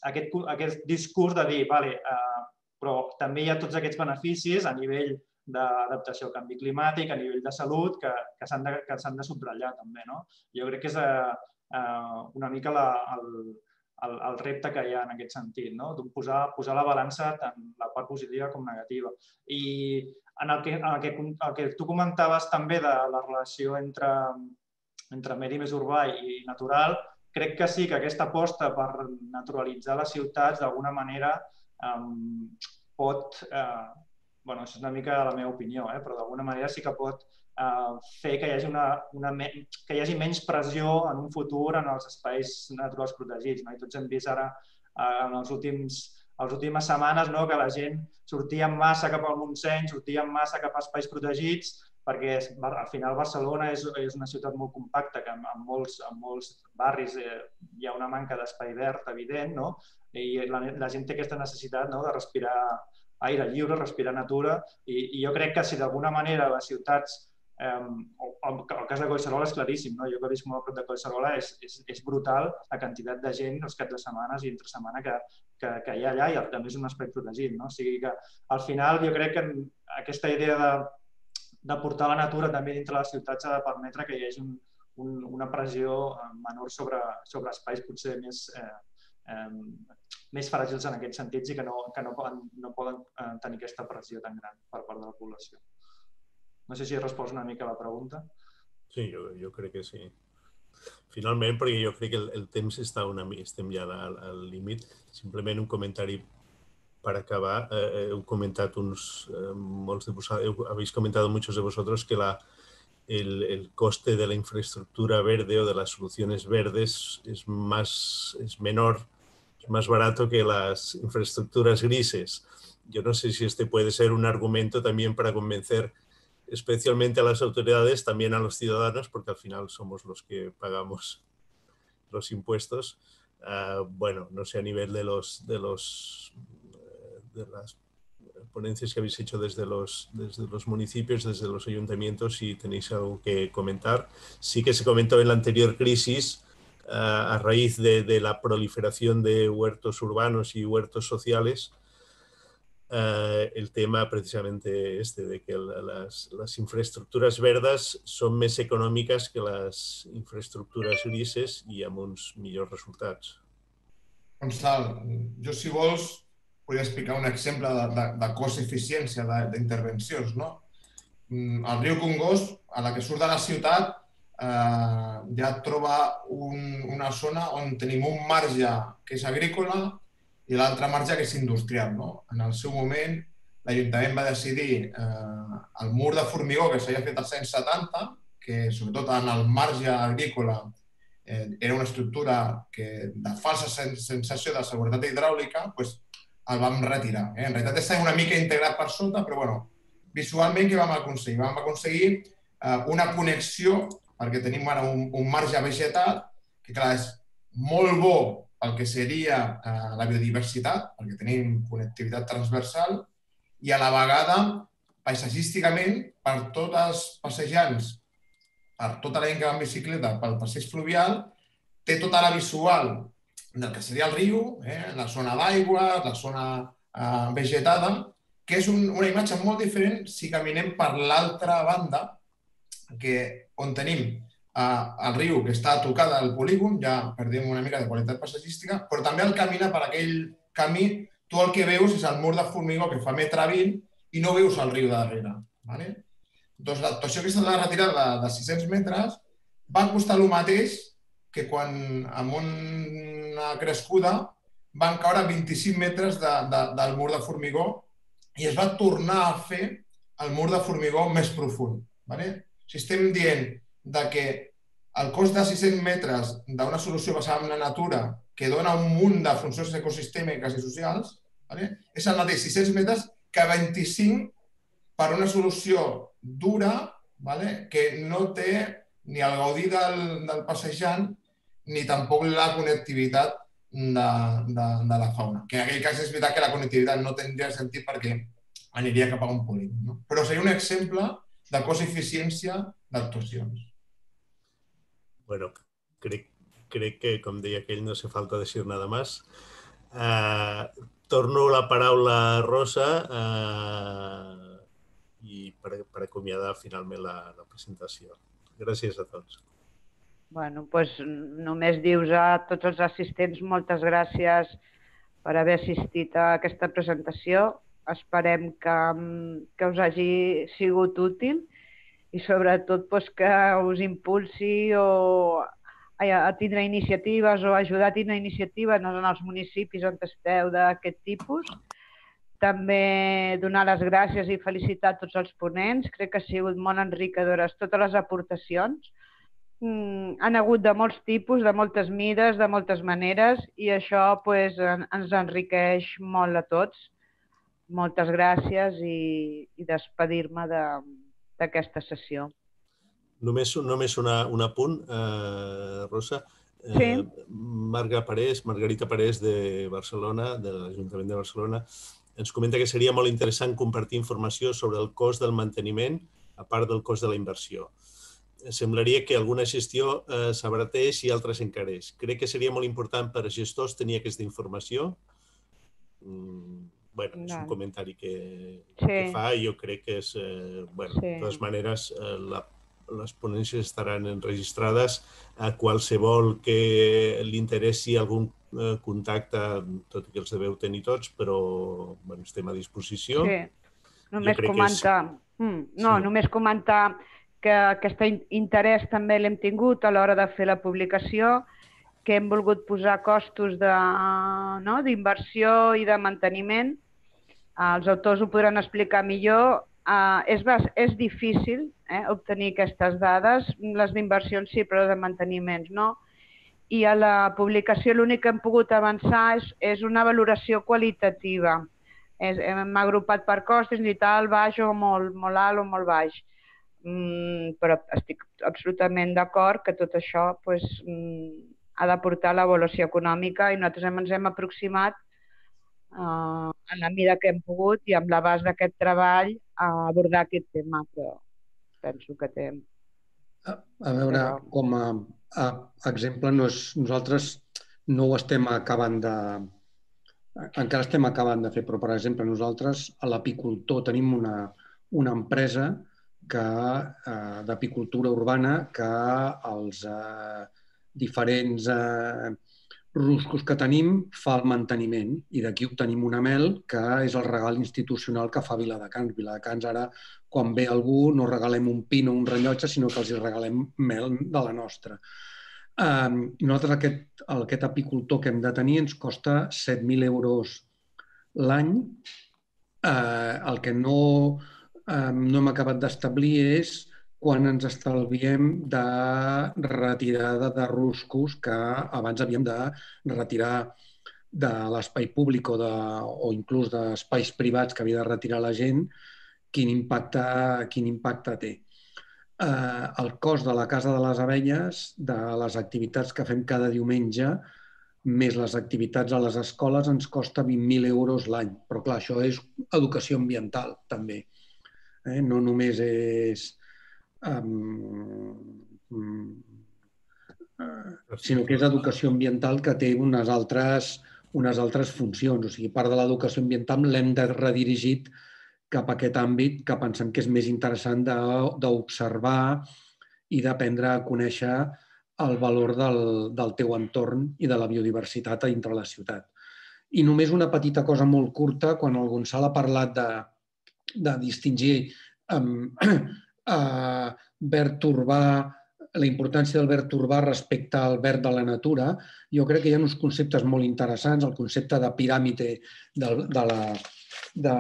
aquest, aquest discurs de dir, vale, eh, però també hi ha tots aquests beneficis a nivell d'adaptació al canvi climàtic, a nivell de salut, que, que s'han de, que s'han de subratllar també. No? Jo crec que és eh, una mica la, el, el, el repte que hi ha en aquest sentit, no? posar, posar la balança tant la part positiva com negativa. I en el que, en el que, el que tu comentaves també de la relació entre, entre medi més urbà i natural, crec que sí que aquesta aposta per naturalitzar les ciutats d'alguna manera eh, pot... Eh, bueno, això és una mica la meva opinió, eh? Però d'alguna manera sí que pot eh, fer que hi hagi, una, una, que hi hagi menys pressió en un futur en els espais naturals protegits. No? I tots hem vist ara, eh, en els últims, les últimes setmanes, no? Que la gent sortia en massa cap al Montseny, sortia en massa cap a espais protegits, perquè al final Barcelona és, és una ciutat molt compacta, que en, en, molts, en molts barris eh, hi ha una manca d'espai verd evident, no? I la, la gent té aquesta necessitat, no? De respirar aire lliure, respirar natura, i, i jo crec que si d'alguna manera les ciutats, eh, el, el cas de Collserola és claríssim, no? Jo que visc molt a prop de Collserola, és, és, és brutal la quantitat de gent els caps de setmanes i entre setmana que, que, que hi ha allà, i també és un espai protegit. No? O sigui que al final jo crec que aquesta idea de, de portar la natura també dintre les ciutats ha de permetre que hi hagi un, un, una pressió menor sobre, sobre espais potser més... Eh, eh, més fràgils en aquests sentits i que no, que no poden, no poden tenir aquesta pressió tan gran per part de la població. No sé si he respost una mica a la pregunta. Sí, jo, jo crec que sí. Finalment, perquè jo crec que el, el temps està una mica, estem ja al, al límit, simplement un comentari per acabar. Eh, heu comentat uns, eh, molts de vosaltres, heu, habéis comentado muchos de vosotros que la, el, el coste de la infraestructura verde o de las soluciones verdes es, más, es menor, es más barato que las infraestructuras grises. Yo no sé si este puede ser un argumento también para convencer especialmente a las autoridades, también a los ciudadanos, porque al final somos los que pagamos los impuestos. Uh, bueno, no sé, a nivel de, los, de, los, de las ponencias que habéis hecho desde los, desde los municipios, desde los ayuntamientos, si tenéis algo que comentar. Sí que se comentó en la anterior crisis, a raíz de, de la proliferación de huertos urbanos y huertos sociales, uh, el tema precisamente este de que las, las infraestructuras verdes son més econòmiques que les infraestructures grises i amb uns millors resultats. Gonçal, jo si vols podria explicar un exemple de, de, de cost-eficiència d'intervencions, no? El riu Congost, a la que surt de la ciutat, Uh, ja troba un, una zona on tenim un marge que és agrícola i l'altre marge que és industrial. No? En el seu moment l'Ajuntament va decidir el mur de formigó que s'havia fet als anys setanta, que sobretot en el marge agrícola era una estructura de falsa sensació de seguretat hidràulica, el vam retirar. En realitat està una mica integrat per sota, però bueno, visualment què vam aconseguir? Vam aconseguir una connexió, perquè tenim ara un marge vegetat, que clar, és molt bo pel que seria la biodiversitat, perquè tenim connectivitat transversal, i a la vegada, paisatgísticament, per tots els passejants, per tota la gent que va en bicicleta, pel passeig fluvial, té tota la visual del que seria el riu, la zona d'aigua, la zona vegetada, que és una imatge molt diferent si caminem per l'altra banda, on tenim el riu que està a tocar del polígon, ja perdem una mica de qualitat paisatgística, però també al caminar per aquell camí, tu el que veus és el mur de formigó que fa metre vint i no veus el riu darrere. Doncs l'actuació aquesta de la retirada de sis-cents metres va costar el mateix que quan amb una crescuda van caure vint-i-cinc metres del mur de formigó i es va tornar a fer el mur de formigó més profund. Si estem dient que el cost de sis-cents metres d'una solució basada en la natura que dona un munt de funcions ecosistèmiques i socials és el mateix sis-cents metres que vint-i-cinc per una solució dura que no té ni el gaudí del passejant ni tampoc la connectivitat de la fauna. Que en aquell cas és veritat que la connectivitat no tindria sentit perquè aniria cap a un polígon. Però seria un exemple de cost-eficiència d'actuacions. Bueno, crec que, com deia aquell, no hace falta decir nada más. Torno la paraula a Rosa i per acomiadar finalment la presentació. Gràcies a tots. Bueno, doncs només dius a tots els assistents moltes gràcies per haver assistit a aquesta presentació. Esperem que us hagi sigut útil i sobretot que us impulsi a tindre iniciatives o ajudar a tindre iniciatives en els municipis on esteu d'aquest tipus. També donar les gràcies i felicitar tots els ponents. Crec que han sigut molt enriquidores totes les aportacions. Han hagut de molts tipus, de moltes mides, de moltes maneres i això ens enriqueix molt a tots. Moltes gràcies i despedir-me d'aquesta sessió. Només un apunt, Rosa. Margarita Parés de Barcelona, de l'Ajuntament de Barcelona, ens comenta que seria molt interessant compartir informació sobre el cost del manteniment a part del cost de la inversió. Semblaria que alguna gestió s'abarateix i altres encareix. Crec que seria molt important per a gestors tenir aquesta informació. Bé, és un comentari que fa i jo crec que és... Bé, de totes maneres, les ponències estaran enregistrades a qualsevol que li interessi algun contacte, tot i que els deveu tenir tots, però estem a disposició. Sí, només comentar... No, només comentar que aquest interès també l'hem tingut a l'hora de fer la publicació, que hem volgut posar costos d'inversió i de manteniment. Els autors ho podran explicar millor. És difícil obtenir aquestes dades, les d'inversions sí, però de manteniments no. I a la publicació l'únic que hem pogut avançar és una valoració qualitativa. Hem agrupat per costos, ni tal, baix o molt alt o molt baix. Però estic absolutament d'acord que tot això ha de portar l'avaluació econòmica i nosaltres ens hem aproximat en la mida que hem pogut i amb l'abast d'aquest treball a abordar aquest tema, però penso que té... A veure, com a exemple, nosaltres no ho estem acabant de... Encara estem acabant de fer, però, per exemple, nosaltres a l'apicultor tenim una empresa d'apicultura urbana que els diferents ruscos que tenim fa el manteniment i d'aquí obtenim una mel que és el regal institucional que fa Viladecans. Viladecans ara, quan ve algú, no regalem un pin o un rellotge, sinó que els regalem mel de la nostra. Nosaltres aquest apicultor que hem de tenir ens costa set mil euros l'any El que no hem acabat d'establir és quan ens estalviem de retirada de ruscos que abans havíem de retirar de l'espai públic o, de, o inclús d'espais privats que havia de retirar la gent, quin impacte, quin impacte té. Eh, el cost de la Casa de les Abelles, de les activitats que fem cada diumenge, més les activitats a les escoles, ens costa vint mil euros l'any. Però clar, això és educació ambiental, també. Eh? No només és... Um, uh, sinó que és educació ambiental que té unes altres... unes altres funcions. O sigui, part de l'educació ambiental l'hem de redirigir cap a aquest àmbit que pensem que és més interessant d'observar i d'aprendre a conèixer el valor del, del teu entorn i de la biodiversitat a dintre la ciutat. I només una petita cosa molt curta, quan el Gonçal ha parlat de, de distingir um, uh, verd urbà, la importància del verd urbà respecte al verd de la natura, jo crec que hi ha uns conceptes molt interessants, el concepte de piràmide de, de, la, de,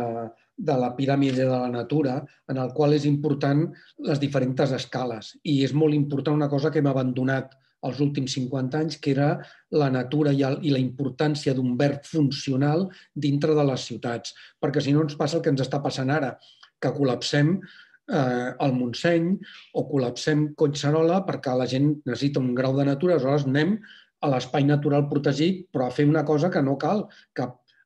de la piràmide de la natura, en el qual és important les diferents escales. I és molt important una cosa que hem abandonat els últims cinquanta anys, que era la natura i, el, i la importància d'un verd funcional dintre de les ciutats. Perquè si no ens passa el que ens està passant ara, que col·lapsem al Montseny o col·lapsem Collserola perquè la gent necessita un grau de natura, aleshores anem a l'espai natural protegit, però a fer una cosa que no cal, que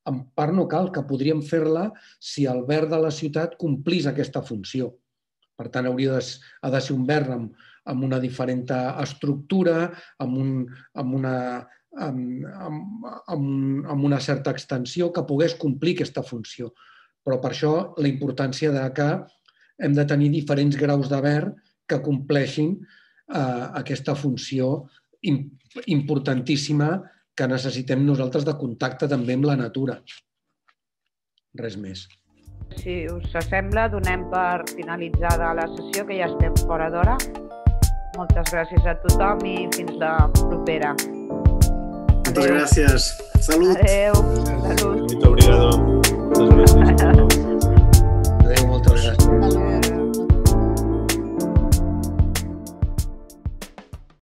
en part no cal, que podríem fer-la si el verd de la ciutat complís aquesta funció. Per tant, hauria de, ha de ser un verd amb, amb una diferent estructura, amb, un, amb, una, amb, amb, amb, amb una certa extensió, que pogués complir aquesta funció. Però per això la importància de que hem de tenir diferents graus de verd que compleixin eh, aquesta funció importantíssima que necessitem nosaltres de contacte també amb la natura. Res més. Si us sembla, donem per finalitzada la sessió, que ja estem fora d'hora. Moltes gràcies a tothom i fins la propera. Moltes gràcies. Salut. Adéu. Salut. Muito obrigado. Moltes gràcies. Adéu, moltes gràcies.